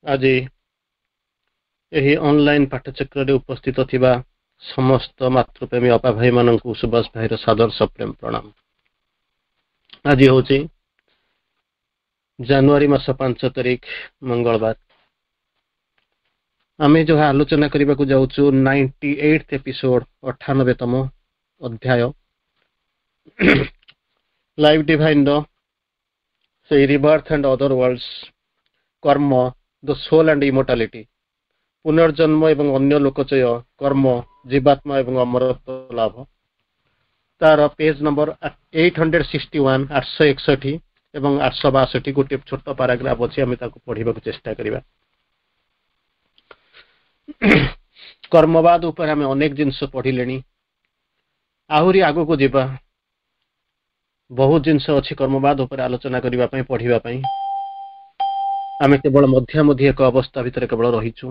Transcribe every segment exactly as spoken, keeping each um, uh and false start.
ଆଜି ଏହି ଅନଲାଇନ ପାଠଚକ୍ରରେ ଉପସ୍ଥିତ ଥିବା ସମସ୍ତ ମାତୃପ୍ରେମୀ ଅପା ଭାଇମାନଙ୍କୁ ସୁଭାଷ ଭାଇର ସାଦର ସପ୍ରେମ ପ୍ରଣାମ। ଆଜି ହେଉଛି ଜାନୁଆରୀ ମାସ ପାଞ୍ଚ ତାରିଖ, ମଙ୍ଗଳବାର। ଆମେ ଯାହା ଆଲୋଚନା କରିବାକୁ ଯାଉଛୁ ନାଇଣ୍ଟି ଏଇଟ୍ ଏପିସୋଡ, ଅଠାନବେତମ ଅଧ୍ୟାୟ ଲାଇଫ ଡିଭାଇନର ସେଇ ରିବର୍ଥ ଆଣ୍ଡ ଅଦର ୱାର୍ଲଡସ୍, କର୍ମ, ଦ ସୋଲ୍ ଆଣ୍ଡ ଇମୋର୍ଟାଲିଟି, ପୁନର୍ଜନ୍ମ ଏବଂ ଅନ୍ୟ ଲୋକଚୟ, କର୍ମ, ଜୀବାତ୍ମା ଏବଂ ଅମରତ୍ୱ ଲାଭ। ତାର page number eight hundred sixty one, ଆଠଶହ ଏକଷଠି ଏବଂ ଆଠଶହ ବାଷଠି ଗୋଟିଏ ଛୋଟ ପାରାଗ୍ରାଫ ଅଛି, ଆମେ ତାକୁ ପଢିବାକୁ ଚେଷ୍ଟା କରିବା। କର୍ମବାଦ ଉପରେ ଆମେ ଅନେକ ଜିନିଷ ପଢିଲେଣି, ଆହୁରି ଆଗକୁ ଯିବା। ବହୁତ ଜିନିଷ ଅଛି କର୍ମବାଦ ଉପରେ ଆଲୋଚନା କରିବା ପାଇଁ, ପଢିବା ପାଇଁ। ଆମେ କେବଳ ମଧ୍ୟାମଧ୍ୟ ଏକ ଅବସ୍ଥା ଭିତରେ କେବଳ ରହିଛୁ।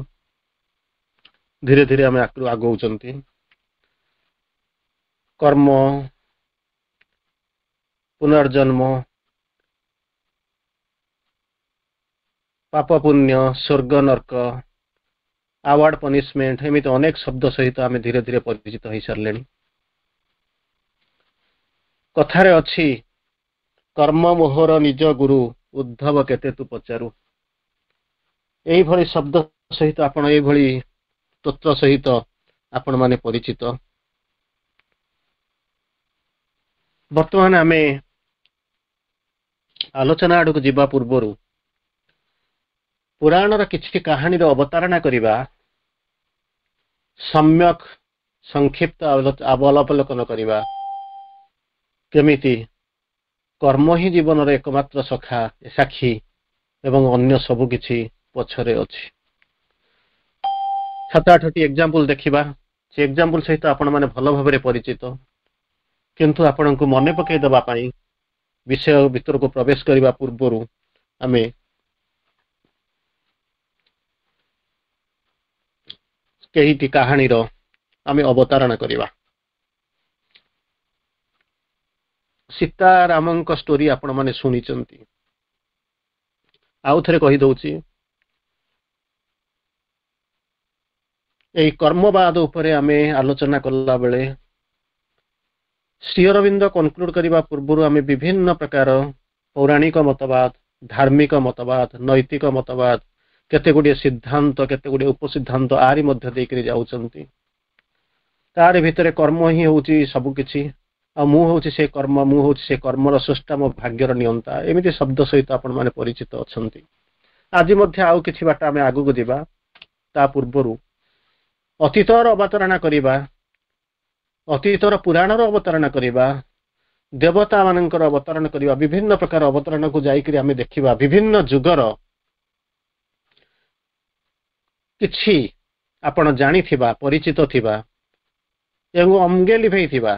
ଧୀରେ ଧୀରେ ଆମେ ଆଗଉଛନ୍ତି। କର୍ମ, ପୁନର୍ଜନ୍ମ, ପାପ ପୁଣ୍ୟ, ସ୍ୱର୍ଗ ନର୍କ, ଆୱାର୍ଡ ପନିଶମେଣ୍ଟ, ଏମିତି ଅନେକ ଶବ୍ଦ ସହିତ ଆମେ ଧୀରେ ଧୀରେ ପରିଚିତ ହେଇସାରିଲେଣି। କଥାରେ ଅଛି, କର୍ମ ମୋହର ନିଜ ଗୁରୁ, ଉଦ୍ଧବ କେତେ ତୁ ପଚାରୁ। ଏଇଭଳି ଶବ୍ଦ ସହିତ ଆପଣ, ଏଇଭଳି ତତ୍ତ୍ୱ ସହିତ ଆପଣମାନେ ପରିଚିତ। ବର୍ତ୍ତମାନ ଆମେ ଆଲୋଚନା ଆଡ଼କୁ ଯିବା ପୂର୍ବରୁ ପୁରାଣର କିଛି କାହାଣୀର ଅବତାରଣା କରିବା, ସମ୍ୟକ ସଂକ୍ଷିପ୍ତ ଅବଲୋକନ କରିବା, କେମିତି କର୍ମ ହିଁ ଜୀବନର ଏକମାତ୍ର ସଖା, ସାକ୍ଷୀ ଏବଂ ଅନ୍ୟ ସବୁ କିଛି ପଛରେ ଅଛି। ସାତ ଆଠଟି ଏକ୍ଜାମ୍ପଲ ଦେଖିବା। ସେ ଏକ୍ଜାମ୍ପଲ ସହିତ ଆପଣମାନେ ଭଲ ଭାବରେ ପରିଚିତ, କିନ୍ତୁ ଆପଣଙ୍କୁ ମନେ ପକାଇ ଦେବା ପାଇଁ ବିଷୟ ଭିତରକୁ ପ୍ରବେଶ କରିବା ପୂର୍ବରୁ ଆମେ କେଇଟି କାହାଣୀର ଆମେ ଅବତାରଣା କରିବା। ସୀତାରାମଙ୍କ ଷ୍ଟୋରି ଆପଣମାନେ ଶୁଣିଛନ୍ତି। ଆଉ ଥରେ କହିଦଉଛି, ଏଇ କର୍ମବାଦ ଉପରେ ଆମେ ଆଲୋଚନା କଲା ବେଳେ ଶ୍ରୀ ଅରବିନ୍ଦ କନକ୍ଲୁଡ କରିବା ପୂର୍ବରୁ ଆମେ ବିଭିନ୍ନ ପ୍ରକାର ପୌରାଣିକ ମତବାଦ, ଧାର୍ମିକ ମତବାଦ, ନୈତିକ ମତବାଦ, କେତେ ଗୁଡ଼ିଏ ସିଦ୍ଧାନ୍ତ, କେତେ ଗୁଡ଼ିଏ ଉପସିଦ୍ଧାନ୍ତ ଆରି ମଧ୍ୟ ଦେଇକରି ଯାଉଛନ୍ତି। ତାରି ଭିତରେ କର୍ମ ହିଁ ହେଉଛି ସବୁ କିଛି, ଆଉ ମୁଁ ହେଉଛି ସେ କର୍ମ, ମୁଁ ହେଉଛି ସେ କର୍ମର ସ୍ରଷ୍ଟା, ମୋ ଭାଗ୍ୟର ନିୟନ୍ତା, ଏମିତି ଶବ୍ଦ ସହିତ ଆପଣମାନେ ପରିଚିତ ଅଛନ୍ତି। ଆଜି ମଧ୍ୟ ଆଉ କିଛି ବାଟ ଆମେ ଆଗକୁ ଯିବା। ତା ପୂର୍ବରୁ ଅତୀତର ଅବତାରଣା କରିବା, ଅତୀତର ପୁରାଣର ଅବତାରଣା କରିବା, ଦେବତା ମାନଙ୍କର ଅବତାରଣ କରିବା, ବିଭିନ୍ନ ପ୍ରକାର ଅବତାରଣାକୁ ଯାଇକରି ଆମେ ଦେଖିବା ବିଭିନ୍ନ ଯୁଗର କିଛି ଆପଣ ଜାଣିଥିବା, ପରିଚିତ ଥିବା ଏବଂ ଅଙ୍ଗେ ଲିଭେଇଥିବା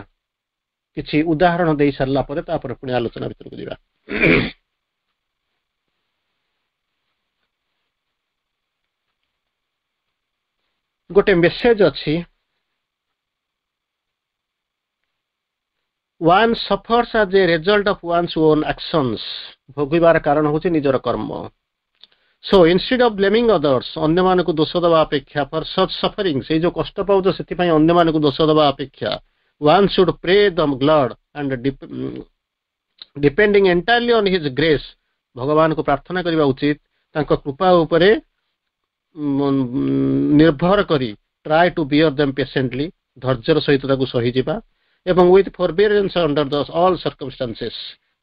କିଛି ଉଦାହରଣ ଦେଇ ସାରିଲା ପରେ ତାପରେ ପୁଣି ଆଲୋଚନା ଭିତରକୁ ଯିବା। ଗୋଟେ ମେସେଜ ଅଛି, One suffers as a result of one's own actions. ଭୋଗିବାର କାରଣ ହେଉଛି ନିଜର କର୍ମ। So instead of blaming others, ଅନ୍ୟମାନଙ୍କୁ ଦୋଷ ଦେବା ଅପେକ୍ଷା, ଫର ସଚ୍ ସଫରିଂ, ସେଇ ଯୋଉ କଷ୍ଟ ପାଉଛ ସେଥିପାଇଁ ଅନ୍ୟମାନଙ୍କୁ ଦୋଷ ଦେବା ଅପେକ୍ଷା, one should pray the Lord and depending entirely on his grace, ଭଗବାନଙ୍କୁ ପ୍ରାର୍ଥନା କରିବା ଉଚିତ, ତାଙ୍କ କୃପା ଉପରେ ନିର୍ଭର କରି, try to bear them patiently, ଧୈର୍ଯ୍ୟର ସହିତ ତାକୁ ସହିଯିବା, ଏବଂ with forbearance under the all circumstances,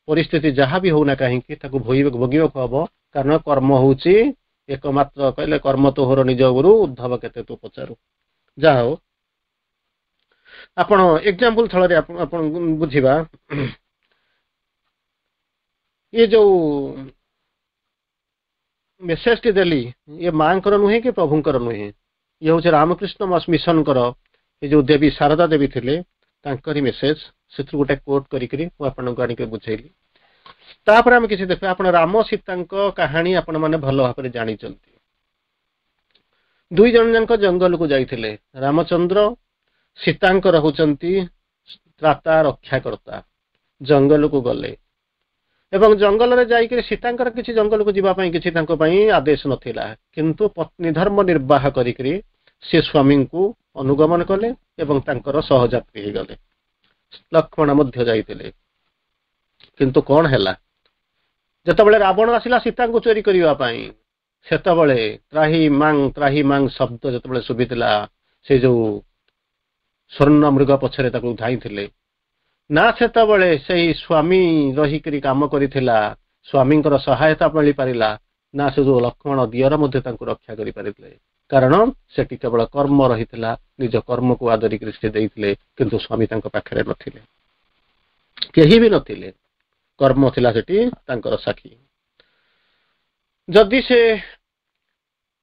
ପରିସ୍ଥିତି ଯାହା ବି ହଉନା କାହିଁକି ତାକୁ ଭୋଗିବାକୁ ହବ, କାରଣ କର୍ମ ହଉଛି ଏକମାତ୍ର। କହିଲେ କର୍ମ ତୋହର ନିଜ ଗୁରୁ, ଉଦ୍ଧବ କେତେ ତୁ ପଚାରୁ। ଯାହା ହଉ, ଆପଣ ଏକ୍ଜାମ୍ପଲ ଥଳରେ ଆପଣ ଆପଣ ବୁଝିବା। ଇଏ ଯୋଉ ମେସେଜଟି ଦେଲି, ଇଏ ମାଙ୍କର ନୁହେଁ କି ପ୍ରଭୁଙ୍କର ନୁହେଁ, ଇଏ ହଉଛି ରାମକୃଷ୍ଣ ମିଶନଙ୍କର ଏ ଯୋଉ ଦେବୀ ଶାରଦା ଦେବୀ ଥିଲେ ତାଙ୍କରି ମେସେଜ। ସେଥିରୁ ଗୋଟେ କୋଟ୍ କରିକିରି ମୁଁ ଆପଣଙ୍କୁ ଆଣିକି ବୁଝେଇଲି। ତାପରେ ଆମେ କିଛି ଦେଖିବା। ଆପଣ ରାମ ସୀତାଙ୍କ କାହାଣୀ ଆପଣମାନେ ଭଲ ଭାବରେ ଜାଣିଛନ୍ତି। ଦୁଇ ଜଣ ଯାକ ଜଙ୍ଗଲକୁ ଯାଇଥିଲେ। ରାମଚନ୍ଦ୍ର ସୀତାଙ୍କର ହଉଛନ୍ତି ତ୍ରାତା, ରକ୍ଷାକର୍ତ୍ତା। ଜଙ୍ଗଲକୁ ଗଲେ, ଏବଂ ଜଙ୍ଗଲରେ ଯାଇକରି ସୀତାଙ୍କର କିଛି ଜଙ୍ଗଲକୁ ଯିବା ପାଇଁ କିଛି ତାଙ୍କ ପାଇଁ ଆଦେଶ ନଥିଲା, କିନ୍ତୁ ପତ୍ନୀ ଧର୍ମ ନିର୍ବାହ କରିକିରି ସେ ସ୍ୱାମୀଙ୍କୁ ଅନୁଗମନ କଲେ ଏବଂ ତାଙ୍କର ସହଯାତ୍ରୀ ହେଇଗଲେ। ଲକ୍ଷ୍ମଣ ମଧ୍ୟ ଯାଇଥିଲେ। କିନ୍ତୁ କଣ ହେଲା, ଯେତେବେଳେ ରାବଣ ଆସିଲା ସୀତାଙ୍କୁ ଚୋରି କରିବା ପାଇଁ, ସେତେବେଳେ ତ୍ରାହି ମାଂ ତ୍ରାହି ମାଂ ଶବ୍ଦ ଯେତେବେଳେ ଶୁଭିଥିଲା, ସେ ଯୋଉ ସ୍ୱର୍ଣ୍ଣ ମୃଗ ପଛରେ ତାକୁ ଧାଇଁଥିଲେ ନା, ସେତେବେଳେ ସେଇ ସ୍ୱାମୀ ରହିକରି କାମ କରିଥିଲା, ସ୍ୱାମୀଙ୍କର ସହାୟତା ମିଳିପାରିଲା ନା, ସେ ଯୋଉ ଲକ୍ଷ୍ମଣ ଦିଅର ମଧ୍ୟ ତାଙ୍କୁ ରକ୍ଷା କରିପାରିଥିଲେ। କାରଣ ସେଠି କେବଳ କର୍ମ ରହିଥିଲା, ନିଜ କର୍ମକୁ ଆଦରିକରି ସେ ଦେଇଥିଲେ, କିନ୍ତୁ ସ୍ୱାମୀ ତାଙ୍କ ପାଖରେ ନଥିଲେ, କେହି ବି ନଥିଲେ। କର୍ମ ଥିଲା ସେଠି ତାଙ୍କର ସାକ୍ଷୀ। ଯଦି ସେ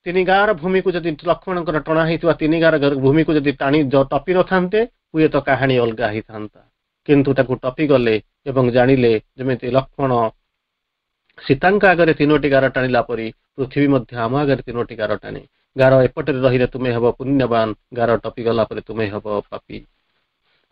ତିନି ଗାଁର ଭୂମିକୁ ଯଦି ଲକ୍ଷ୍ମଣଙ୍କର ଟଣା ହେଇଥିବା ତିନି ଗାଁର ଭୂମିକୁ ଯଦି ଟାଣି ଟପି ନଥାନ୍ତେ, ହୁଏତ କାହାଣୀ ଅଲଗା ହେଇଥାନ୍ତା। କିନ୍ତୁ ତାକୁ ଟପି ଗଲେ ଏବଂ ଜାଣିଲେ ଯେମିତି ଲକ୍ଷ୍ମଣ ସୀତାଙ୍କ ଆଗରେ ତିନୋଟି ଗାର ଟାଣିଲା ପରି ପୃଥିବୀ ମଧ୍ୟ ଆମ ଆଗରେ ତିନୋଟି ଗାର ଟାଣେ। ଗାର ଏପଟରେ ରହିଲେ ତୁମେ ହେବ ପୁଣ୍ୟବାନ, ଗାର ଟପି ଗଲା ପରେ ତୁମେ ହେବ ପାପୀ।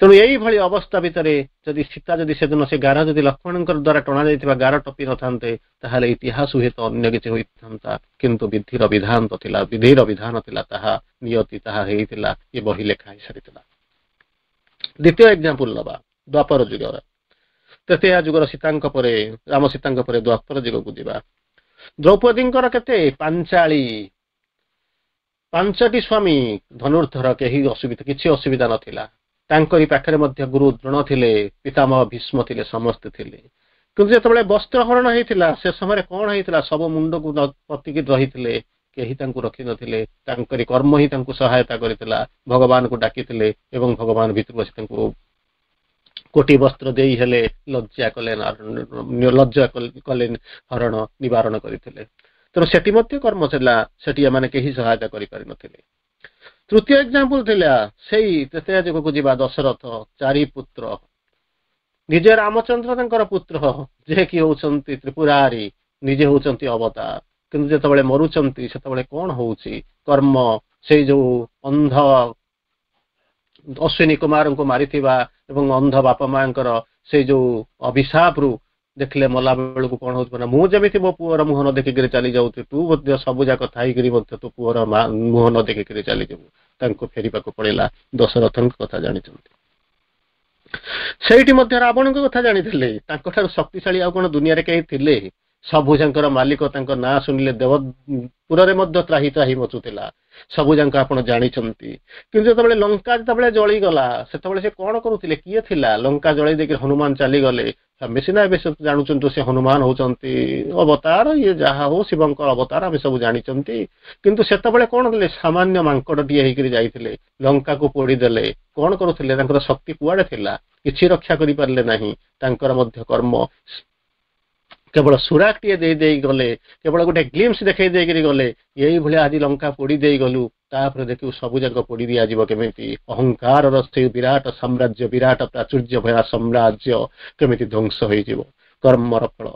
ତେଣୁ ଏଇଭଳି ଅବସ୍ଥା ଭିତରେ ଯଦି ସୀତା ଯଦି ସେଦିନ ସେ ଗାର ଯଦି ଲକ୍ଷ୍ମଣଙ୍କର ଦ୍ୱାରା ଟଣା ଯାଇଥିବା ଗାର ଟପି ନଥାନ୍ତେ, ତାହେଲେ ଇତିହାସ ହୁଏତ ଅନ୍ୟ କିଛି ହୋଇଥାନ୍ତା। କିନ୍ତୁ ବିଧିର ବିଧାନ ତ ଥିଲା, ବିଧିର ବିଧାନ ଥିଲା, ତାହା ନିୟତି ତାହା ହେଇଥିଲା, ଏ ବହି ଲେଖା ହେଇସାରିଥିଲା। ଦ୍ୱିତୀୟ ଏକ୍ଜାମ୍ପଲ ନବା ଦ୍ୱାପର ଯୁଗର। ତୃତୀୟ ଯୁଗର ସୀତାଙ୍କ ପରେ, ରାମ ସୀତାଙ୍କ ପରେ ଦ୍ୱାପର ଯୁଗକୁ ଯିବା। ଦ୍ରୌପଦୀଙ୍କର କେତେ ପାଞ୍ଚାଳି ପାଞ୍ଚଟି ସ୍ୱାମୀ, ଧନୁର୍ଦ୍ଧର, କେହି ଅସୁବିଧା କିଛି ଅସୁବିଧା ନଥିଲା। ତାଙ୍କରି ପାଖରେ ମଧ୍ୟ ଗୁରୁ ଦ୍ରୋଣ ଥିଲେ, ପିତାମହ ଭୀଷ୍ମ ଥିଲେ, ସମସ୍ତେ ଥିଲେ। କିନ୍ତୁ ଯେତେବେଳେ ବସ୍ତ୍ରହରଣ ହେଇଥିଲା ସେ ସମୟରେ କଣ ହେଇଥିଲା, ସବୁ ମୁଣ୍ଡକୁ ପତିକି ରହିଥିଲେ, କେହି ତାଙ୍କୁ ରଖିନଥିଲେ। ତାଙ୍କରି କର୍ମ ହିଁ ତାଙ୍କୁ ସହାୟତା କରିଥିଲା। ଭଗବାନଙ୍କୁ ଡାକିଥିଲେ ଏବଂ ଭଗବାନ ଭିତରକୁ ଆସି ତାଙ୍କୁ କୋଟି ବସ୍ତ୍ର ଦେଇ ହେଲେ ଲଜ୍ଜା କଲେ, ଲଜ୍ଜା କଲେ, ହରଣ ନିବାରଣ କରିଥିଲେ। ତେଣୁ ସେଠି ମଧ୍ୟ କର୍ମ ଥିଲା, ସେଠି ଏମାନେ କେହି ସହାୟତା କରିପାରିନଥିଲେ। ତୃତୀୟ ଏକ୍ଜାମ୍ପଲ ଥିଲା ସେଇ ତୃତୀୟ ଯୁଗକୁ ଯିବା, ଦଶରଥ ଚାରି ପୁତ୍ର, ନିଜେ ରାମଚନ୍ଦ୍ର ତାଙ୍କର ପୁତ୍ର, ଯେ କି ହଉଛନ୍ତି ତ୍ରିପୁରାରୀ, ନିଜେ ହଉଛନ୍ତି ଅବତାର। କିନ୍ତୁ ଯେତେବେଳେ ମରୁଛନ୍ତି ସେତେବେଳେ କଣ ହଉଛି, କର୍ମ ସେଇ ଯୋଉ ଅନ୍ଧ ଅଶ୍ୱିନୀ କୁମାରଙ୍କୁ ମାରିଥିବା ଏବଂ ଅନ୍ଧ ବାପା ମାଙ୍କର ସେଇ ଯୋଉ ଅଭିଶାପରୁ ଦେଖିଲେ ମଲା ବେଳକୁ କଣ ହଉଛି ନା, ମୁଁ ଯେମିତି ମୋ ପୁଅର ମୁହଁ ନ ଦେଖିକିରି ଚାଲି ଯାଉଛି, ତୁ ମଧ୍ୟ ସବୁ ଯାକ ଥାଇକିରି ମଧ୍ୟ ତୋ ପୁଅର ମୁହଁ ନ ଦେଖିକିରି ଚାଲିଯିବୁ। ତାଙ୍କୁ ଫେରିବାକୁ ପଡିଲା। ଦଶରଥଙ୍କ କଥା ଜାଣିଛନ୍ତି। ସେଇଠି ମଧ୍ୟ ରାବଣଙ୍କ କଥା ଜାଣିଥିଲେ। ତାଙ୍କଠାରୁ ଶକ୍ତିଶାଳୀ ଆଉ କଣ ଦୁନିଆରେ କେହି ଥିଲେ? ସବୁ ଯାଙ୍କର ମାଲିକ, ତାଙ୍କ ନାଁ ଶୁଣିଲେ ଦେବପୁରରେ ମଧ୍ୟ ତ୍ରାହି ତ୍ରାହି ମଚୁଥିଲା। ସବୁ ଯାଙ୍କ ଆପଣ ଜାଣିଛନ୍ତି। କିନ୍ତୁ ଯେତେବେଳେ ଲଙ୍କା ଯେତେବେଳେ ଜଳିଗଲା, ସେତେବେଳେ ସେ କଣ କରୁଥିଲେ, କିଏ ଥିଲା? ଲଙ୍କା ଜଳେଇ ଦେଇକି ହନୁମାନ ଚାଲିଗଲେ। ଆମେ ସିନା ଏବେ ସବୁ ଜାଣୁଛନ୍ତି ସେ ହନୁମାନ ହଉଛନ୍ତି ଅବତାର, ଇଏ ଯାହା ହଉ ଶିବଙ୍କର ଅବତାର, ଆମେ ସବୁ ଜାଣିଛନ୍ତି। କିନ୍ତୁ ସେତେବେଳେ କଣ କଲେ, ସାମାନ୍ୟ ମାଙ୍କଡଟିଏ ହେଇକିରି ଯାଇଥିଲେ, ଲଙ୍କାକୁ ପୋଡ଼ିଦେଲେ। କଣ କରୁଥିଲେ, ତାଙ୍କର ଶକ୍ତି କୁଆଡେ ଥିଲା? କିଛି ରକ୍ଷା କରିପାରିଲେ ନାହିଁ। ତାଙ୍କର ମଧ୍ୟ କର୍ମ କେବଳ ସୁରାକଟିଏ ଦେଇ ଦେଇ ଗଲେ, କେବଳ ଗୋଟେ ଗ୍ଲିମ୍ସ ଦେଖେଇ ଦେଇକିରି ଗଲେ। ଏଇଭଳିଆ ଆଜି ଲଙ୍କା ପୋଡ଼ି ଦେଇ ଗଲୁ, ତାପରେ ଦେଖିବୁ ସବୁ ଯାକ ପୋଡ଼ି ଦିଆଯିବ କେମିତି। ଅହଙ୍କାରର ସେଇ ବିରାଟ ସାମ୍ରାଜ୍ୟ, ବିରାଟ ପ୍ରାଚୁର୍ଯ୍ୟ ଭରା ସାମ୍ରାଜ୍ୟ କେମିତି ଧ୍ୱଂସ ହେଇଯିବ, କର୍ମର ଫଳ।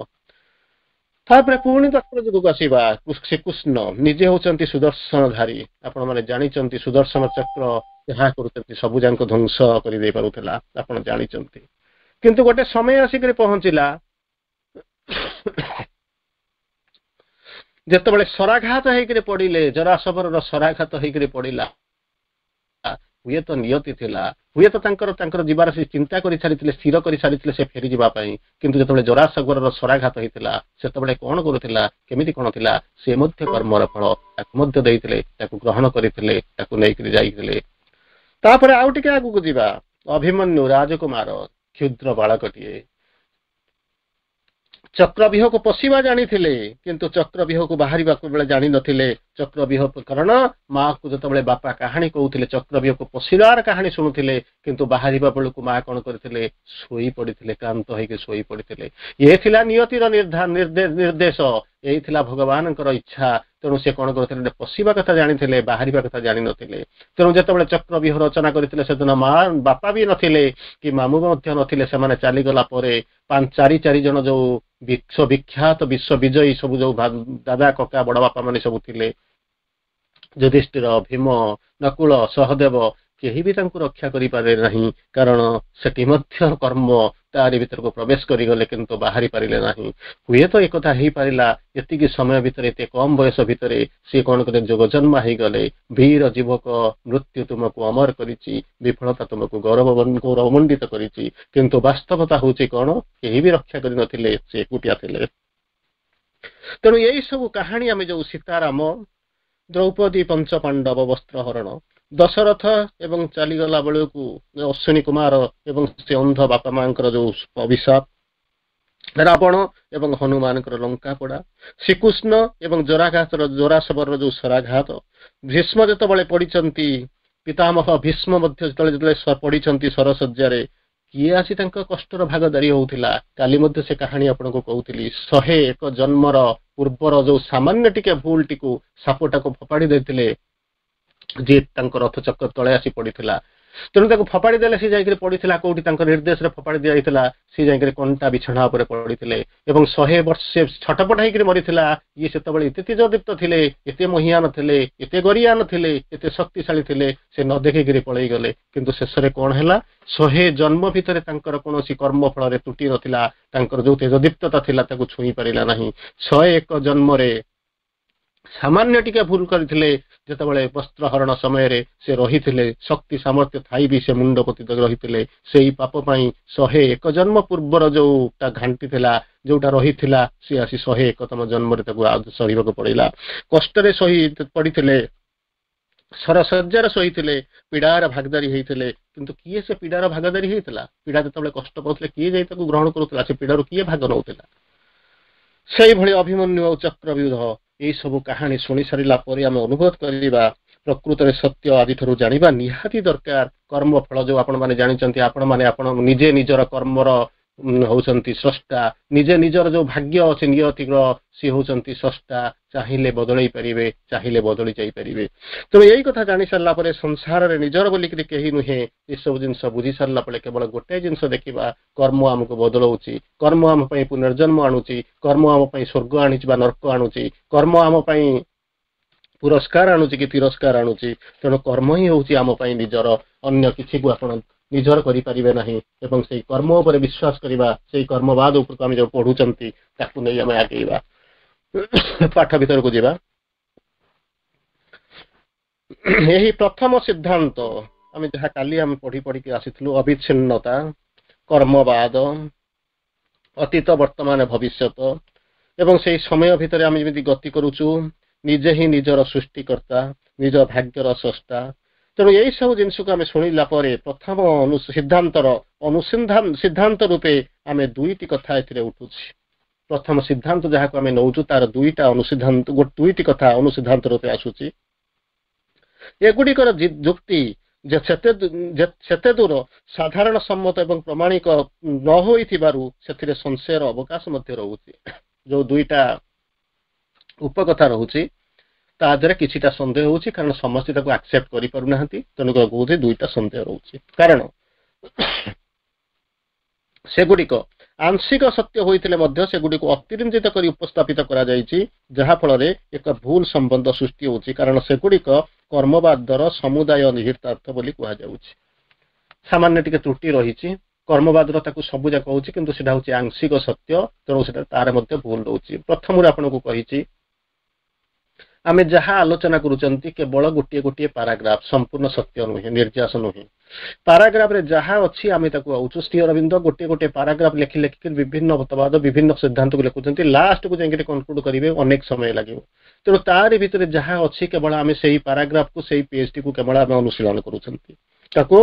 ତାପରେ ପୁଣି ଦ୍ୱାପର ଯୁଗକୁ ଆସିବା। ଶ୍ରୀକୃଷ୍ଣ ନିଜେ ହଉଛନ୍ତି ସୁଦର୍ଶନଧାରୀ। ଆପଣମାନେ ଜାଣିଛନ୍ତି ସୁଦର୍ଶନ ଚକ୍ର ଯାହା କରୁଛନ୍ତି ସବୁ ଯାକ ଧ୍ୱଂସ କରିଦେଇ ପାରୁଥିଲା, ଆପଣ ଜାଣିଛନ୍ତି। କିନ୍ତୁ ଗୋଟେ ସମୟ ଆସିକରି ପହଞ୍ଚିଲା ଯେତେବେଳେ ସରାଘାତ ହେଇକରି ପଡିଲେ, ଜରାସବରର ସରାଘାତ ହେଇକରି ପଡିଲା। ହୁଏତ ନିୟତି ଥିଲା, ହୁଏତ ତାଙ୍କର ତାଙ୍କର ଯିବାର ସେ ଚିନ୍ତା କରି ସାରିଥିଲେ, ସ୍ଥିର କରି ସାରିଥିଲେ ସେ ଫେରିଯିବା ପାଇଁ। କିନ୍ତୁ ଯେତେବେଳେ ଜରାସବରର ସରାଘାତ ହେଇଥିଲା, ସେତେବେଳେ କଣ କରୁଥିଲା, କେମିତି କଣ ଥିଲା, ସେ ମଧ୍ୟ କର୍ମର ଫଳ ତାକୁ ମଧ୍ୟ ଦେଇଥିଲେ, ତାକୁ ଗ୍ରହଣ କରିଥିଲେ, ତାକୁ ନେଇକରି ଯାଇଥିଲେ। ତାପରେ ଆଉ ଟିକେ ଆଗକୁ ଯିବା। ଅଭିମନ୍ୟୁ ରାଜକୁମାର, କ୍ଷୁଦ୍ର ବାଳକଟିଏ, ଚକ୍ରବ୍ୟୁହକୁ ପଶିବା ଜାଣିଥିଲେ, କିନ୍ତୁ ଚକ୍ରବ୍ୟୁହକୁ ବାହାରିବାକୁ ବେଳେ ଜାଣିନଥିଲେ। ଚକ୍ରବ୍ୟୁହ କାରଣ ମାକୁ ଯେତେବେଳେ ବାପା କାହାଣୀ କହୁଥିଲେ, ଚକ୍ରବ୍ୟୁହକୁ ପଶିବାର କାହାଣୀ ଶୁଣୁଥିଲେ, କିନ୍ତୁ ବାହାରିବା ବେଳକୁ ମା କଣ କରିଥିଲେ, ଶୋଇ ପଡିଥିଲେ, କ୍ଳାନ୍ତ ହେଇକି ଶୋଇ ପଡିଥିଲେ। ଏ ଥିଲା ନିୟତିର ନିର୍ଦ୍ଦେଶ, ଏଇ ଥିଲା ଭଗବାନଙ୍କର ଇଚ୍ଛା। ତେଣୁ ସେ କଣ କରୁଥିଲେ, ପଶିବା କଥା ଜାଣିଥିଲେ, ବାହାରିବା କଥା ଜାଣିନଥିଲେ। ତେଣୁ ଯେତେବେଳେ ଚକ୍ରବ୍ୟୁହ ରଚନା କରିଥିଲେ, ସେଦିନ ମା ବାପା ବି ନଥିଲେ କି ମାମୁଁ ମଧ୍ୟ ନଥିଲେ। ସେମାନେ ଚାଲିଗଲା ପରେ ପାଞ୍ଚ ଚାରି ଚାରି ଜଣ ଯୋଉ ବିଶ୍ୱବିଖ୍ୟାତ ବିଶ୍ୱ ବିଜୟୀ ସବୁ ଯୋଉ ଦାଦା କକା ବଡ ବାପା ମାନେ ସବୁ ଥିଲେ, ଯୁଧିଷ୍ଠିର, ଭୀମ, ନକୁଳ, ସହଦେବ, କେହି ବି ତାଙ୍କୁ ରକ୍ଷା କରିପାରିଲେ ନାହିଁ, କାରଣ ସେଠି ମଧ୍ୟ କର୍ମ ତାରି ଭିତରକୁ ପ୍ରବେଶ କରିଗଲେ, କିନ୍ତୁ ବାହାରି ପାରିଲେ ନାହିଁ। ହୁଏତ ଏକଥା ହେଇପାରିଲା, ଏତିକି ସମୟ ଭିତରେ, ଏତେ କମ ବୟସ ଭିତରେ ସିଏ କଣ କଲେ? ଯୋଗ ଜନ୍ମା ହେଇଗଲେ। ବୀର ଯୁବକ, ମୃତ୍ୟୁ ତୁମକୁ ଅମର କରିଛି, ବିଫଳତା ତୁମକୁ ଗୌରବ ଗୌରବମଣ୍ଡିତ କରିଛି। କିନ୍ତୁ ବାସ୍ତବତା ହଉଛି କଣ? କେହି ବି ରକ୍ଷା କରିନଥିଲେ, ସେ ଏକୁଟିଆ ଥିଲେ। ତେଣୁ ଏଇ ସବୁ କାହାଣୀ ଆମେ ଯୋଉ ସୀତାରାମ, ଦ୍ରୌପଦୀ, ପଞ୍ଚ ପାଣ୍ଡବ ବସ୍ତ୍ର ହରଣ, ଦଶରଥ ଏବଂ ଚାଲିଗଲା ବେଳକୁ ଅଶ୍ୱିନୀ କୁମାର ଏବଂ ସେ ଅନ୍ଧ ବାପା ମାଙ୍କର ଯୋଉ ଅଭିଶାପ, ରାବଣ ଏବଂ ହନୁମାନଙ୍କର ଲଙ୍କା ପୋଡା, ଶ୍ରୀକୃଷ୍ଣ ଏବଂ ଜରାଘାତର ଜୋରାଶବରର ଯୋଉ ଶରାଘାତ, ଭୀଷ୍ମ ଯେତେବେଳେ ପଡିଛନ୍ତି, ପିତାମହ ଭୀଷ୍ମ ମଧ୍ୟ ଯେତେବେଳେ ଯେତେବେଳେ ପଡିଛନ୍ତି ସରଶଯ୍ୟାରେ, କିଏ ଆସି ତାଙ୍କ କଷ୍ଟର ଭାଗଦାରୀ ହଉଥିଲା? କାଲି ମଧ୍ୟ ସେ କାହାଣୀ ଆପଣଙ୍କୁ କହୁଥିଲି। ଶହେ ଏକ ଜନ୍ମର ପୂର୍ବର ଯୋଉ ସାମାନ୍ୟ ଟିକେ ଭୁଲଟିକୁ ସାପଟାକୁ ଫୋପାଡ଼ି ଦେଇଥିଲେ, ଯିଏ ତାଙ୍କ ରଥ ଚକ୍ର ତଳେ ଆସି ପଡିଥିଲା। ତେଣୁ ତାକୁ ଫୋପାଡ଼ି ଦେଲେ, ସେ ଯାଇକରି ପଡିଥିଲା କୋଉଠି? ତାଙ୍କ ନିର୍ଦ୍ଦେଶରେ ଫୋପାଡ଼ି ଦିଆଯାଇଥିଲା, ସେ ଯାଇକରି କଣ୍ଟା ବିଛଣା ଉପରେ ପଡିଥିଲେ ଏବଂ ଶହେ ବର୍ଷ ଛଟପଟ ହେଇକରି ମରିଥିଲା। ଇଏ ସେତେବେଳେ ଏତେ ତେଜଦୀପ୍ତ ଥିଲେ, ଏତେ ମହିଆନ ଥିଲେ, ଏତେ ଗରିଆନ ଥିଲେ, ଏତେ ଶକ୍ତିଶାଳୀ ଥିଲେ, ସେ ନ ଦେଖିକିରି ପଳେଇ ଗଲେ। କିନ୍ତୁ ଶେଷରେ କଣ ହେଲା? ଶହେ ଜନ୍ମ ଭିତରେ ତାଙ୍କର କୌଣସି କର୍ମ ଫଳରେ ତ୍ରୁଟି ନଥିଲା, ତାଙ୍କର ଯୋଉ ତେଜଦୀପ୍ତତା ଥିଲା ତାକୁ ଛୁଇଁ ପାରିଲା ନାହିଁ। ଶହେ ଏକ ଜନ୍ମରେ ସାମାନ୍ୟ ଟିକେ ଭୁଲ କରିଥିଲେ, ଯେତେବେଳେ ବସ୍ତ୍ର ହରଣ ସମୟରେ ସେ ରହିଥିଲେ, ଶକ୍ତି ସାମର୍ଥ୍ୟ ଥାଇ ବି ସେ ମୁଣ୍ଡ ପୋତି ରହିଥିଲେ। ସେଇ ପାପ ପାଇଁ ଶହେ ଏକ ଜନ୍ମ ପୂର୍ବର ଯୋଉଟା ଘାଣ୍ଟି ଥିଲା, ଯୋଉଟା ରହିଥିଲା, ସିଏ ଆସି ଶହେ ଏକତମ ଜନ୍ମରେ ତାକୁ ସହିବାକୁ ପଡିଲା। କଷ୍ଟରେ ସହି ପଡିଥିଲେ, ସରଶଯ୍ୟାରେ ଶୋଇଥିଲେ, ପୀଡାର ଭାଗଦାରୀ ହେଇଥିଲେ। କିନ୍ତୁ କିଏ ସେ ପୀଡାର ଭାଗଦାରୀ ହେଇଥିଲା? ପୀଡା ଯେତେବେଳେ କଷ୍ଟ ପାଉଥିଲେ, କିଏ ଯାଇ ତାକୁ ଗ୍ରହଣ କରୁଥିଲା? ସେ ପୀଡାରୁ କିଏ ଭାଗ ନଉଥିଲା? ସେଇଭଳି ଅଭିମନ୍ୟୁ ଆଉ ଚକ୍ରବ୍ୟୁହ, ଏଇ ସବୁ କାହାଣୀ ଶୁଣି ସାରିଲା ପରେ ଆମେ ଅନୁଭବ କରିବା, ପ୍ରକୃତରେ ସତ୍ୟ ଆଜିଠାରୁ ଜାଣିବା ନିହାତି ଦରକାର। କର୍ମ ଫଳ ଯୋଉ ଆପଣମାନେ ଜାଣିଛନ୍ତି, ଆପଣମାନେ ଆପଣ ନିଜେ ନିଜର କର୍ମର ହଉଛନ୍ତି ସ୍ରଷ୍ଟା, ନିଜେ ନିଜର ଯୋଉ ଭାଗ୍ୟ ଅଛି ନିୟତିର ସିଏ ହଉଛନ୍ତି ସ୍ରଷ୍ଟା। ଚାହିଁଲେ ବଦଳେଇ ପାରିବେ, ଚାହିଁଲେ ବଦଳି ଯାଇପାରିବେ। ତେଣୁ ଏଇ କଥା ଜାଣି ସାରିଲା ପରେ, ସଂସାରରେ ନିଜର ବୋଲିକିରି କେହି ନୁହେଁ, ଏସବୁ ଜିନିଷ ବୁଝି ସାରିଲା ପରେ କେବଳ ଗୋଟାଏ ଜିନିଷ ଦେଖିବା, କର୍ମ ଆମକୁ ବଦଳଉଛି, କର୍ମ ଆମ ପାଇଁ ପୁନର୍ଜନ୍ମ ଆଣୁଛି, କର୍ମ ଆମ ପାଇଁ ସ୍ୱର୍ଗ ଆଣୁଛି ବା ନର୍କ ଆଣୁଛି, କର୍ମ ଆମ ପାଇଁ ପୁରସ୍କାର ଆଣୁଛି କି ତିରସ୍କାର ଆଣୁଛି। ତେଣୁ କର୍ମ ହିଁ ହଉଛି ଆମ ପାଇଁ ନିଜର, ଅନ୍ୟ କିଛିକୁ ଆପଣ ନିଜର କରିପାରିବେ ନାହିଁ। ଏବଂ ସେଇ କର୍ମ ଉପରେ ବିଶ୍ୱାସ କରିବା, ସେଇ କର୍ମବାଦ ଉପରକୁ ଆମେ ଯୋଉ ପଢୁଛନ୍ତି ତାକୁ ନେଇ ଆମେ ଆଗେଇବା। ପାଠ ଭିତରକୁ ଯିବା। ଏହି ପ୍ରଥମ ସିଦ୍ଧାନ୍ତ ଆମେ ଯାହା କାଲି ଆମେ ପଢି ପଢିକି ଆସିଥିଲୁ, ଅବିଚ୍ଛିନ୍ନତା, କର୍ମବାଦ, ଅତୀତ, ବର୍ତ୍ତମାନ, ଭବିଷ୍ୟତ, ଏବଂ ସେଇ ସମୟ ଭିତରେ ଆମେ ଯେମିତି ଗତି କରୁଛୁ, ନିଜେ ହିଁ ନିଜର ସୃଷ୍ଟିକର୍ତ୍ତା, ନିଜ ଭାଗ୍ୟର ସ୍ରଷ୍ଟା। ତେଣୁ ଏଇ ସବୁ ଜିନିଷକୁ ଆମେ ଶୁଣିଲା ପରେ ପ୍ରଥମ ସିଦ୍ଧାନ୍ତର ଅନୁସନ୍ଧାନ ସିଦ୍ଧାନ୍ତ ରୂପେ ଆମେ ଦୁଇଟି କଥା ଏଥିରେ ଉଠୁଛି। ପ୍ରଥମ ସିଦ୍ଧାନ୍ତ ଯାହାକୁ ଆମେ ନଉଛୁ, ତାର ଦୁଇଟା ଅନୁସିଦ୍ଧାନ୍ତ, ଦୁଇଟି କଥା ଅନୁସିଦ୍ଧାନ୍ତ ରୂପେ ଆସୁଛି। ଏଗୁଡ଼ିକର ଯୁକ୍ତି ଯେ ସେତେ ସେତେ ଦୂର ସାଧାରଣ ସମ୍ମତ ଏବଂ ପ୍ରମାଣିକ ନ ହୋଇଥିବାରୁ ସେଥିରେ ସଂଶୟର ଅବକାଶ ମଧ୍ୟ ରହୁଛି। ଯୋଉ ଦୁଇଟା ଉପକଥା ରହୁଛି ତା ଦେହରେ କିଛିଟା ସନ୍ଦେହ ହଉଛି, କାରଣ ସମସ୍ତେ ତାକୁ ଆକ୍ସେପ୍ଟ କରିପାରୁନାହାନ୍ତି। ତେଣୁ କହୁଛି ଦୁଇଟା ସନ୍ଦେହ ରହୁଛି, କାରଣ ସେଗୁଡ଼ିକ ଆଂଶିକ ସତ୍ୟ ହୋଇଥିଲେ ମଧ୍ୟ ସେଗୁଡ଼ିକୁ ଅତିରଞ୍ଜିତ କରି ଉପସ୍ଥାପିତ କରାଯାଇଛି, ଯାହା ଫଳରେ ଏକ ଭୁଲ ସମ୍ବନ୍ଧ ସୃଷ୍ଟି ହେଉଛି, କାରଣ ସେଗୁଡ଼ିକ କର୍ମବାଦର ସମୁଦାୟ ନିହିତାର୍ଥ ବୋଲି କୁହାଯାଉଛି। ସାମାନ୍ୟ ଟିକେ ତ୍ରୁଟି ରହିଛି, କର୍ମବାଦର ତାକୁ ସବୁ ଯାକ ହଉଛି, କିନ୍ତୁ ସେଟା ହଉଛି ଆଂଶିକ ସତ୍ୟ, ତେଣୁ ସେଟା ତାର ମଧ୍ୟ ଭୁଲ ରହୁଛି। ପ୍ରଥମରୁ ଆପଣଙ୍କୁ କହିଛି, ଆମେ ଯାହା ଆଲୋଚନା କରୁଛନ୍ତି କେବଳ ଗୋଟିଏ ଗୋଟିଏ ପାରାଗ୍ରାଫ, ସମ୍ପୂର୍ଣ୍ଣ ସତ୍ୟ ନୁହେଁ, ନିର୍ଯାସ ନୁହେଁ। ପାରାଗ୍ରାଫରେ ଯାହା ଅଛି ଆମେ ତାକୁ ଆଉଛୁ। ଶ୍ରୀ ଅରବିନ୍ଦ ଗୋଟିଏ ଗୋଟିଏ ପାରାଗ୍ରାଫ ଲେଖି ଲେଖିକି ବିଭିନ୍ନ ମତବାଦ, ବିଭିନ୍ନ ସିଦ୍ଧାନ୍ତକୁ ଲେଖୁଛନ୍ତି, ଲାଷ୍ଟକୁ ଯାଇକି କନକ୍ଲୁଡ କରିବେ, ଅନେକ ସମୟ ଲାଗିବ। ତେଣୁ ତାରି ଭିତରେ ଯାହା ଅଛି କେବଳ ଆମେ ସେଇ ପାରାଗ୍ରାଫକୁ, ସେଇ ପେଜଟିକୁ କେବଳ ଆମେ ଅନୁଶୀଳନ କରୁଛନ୍ତି। ତାକୁ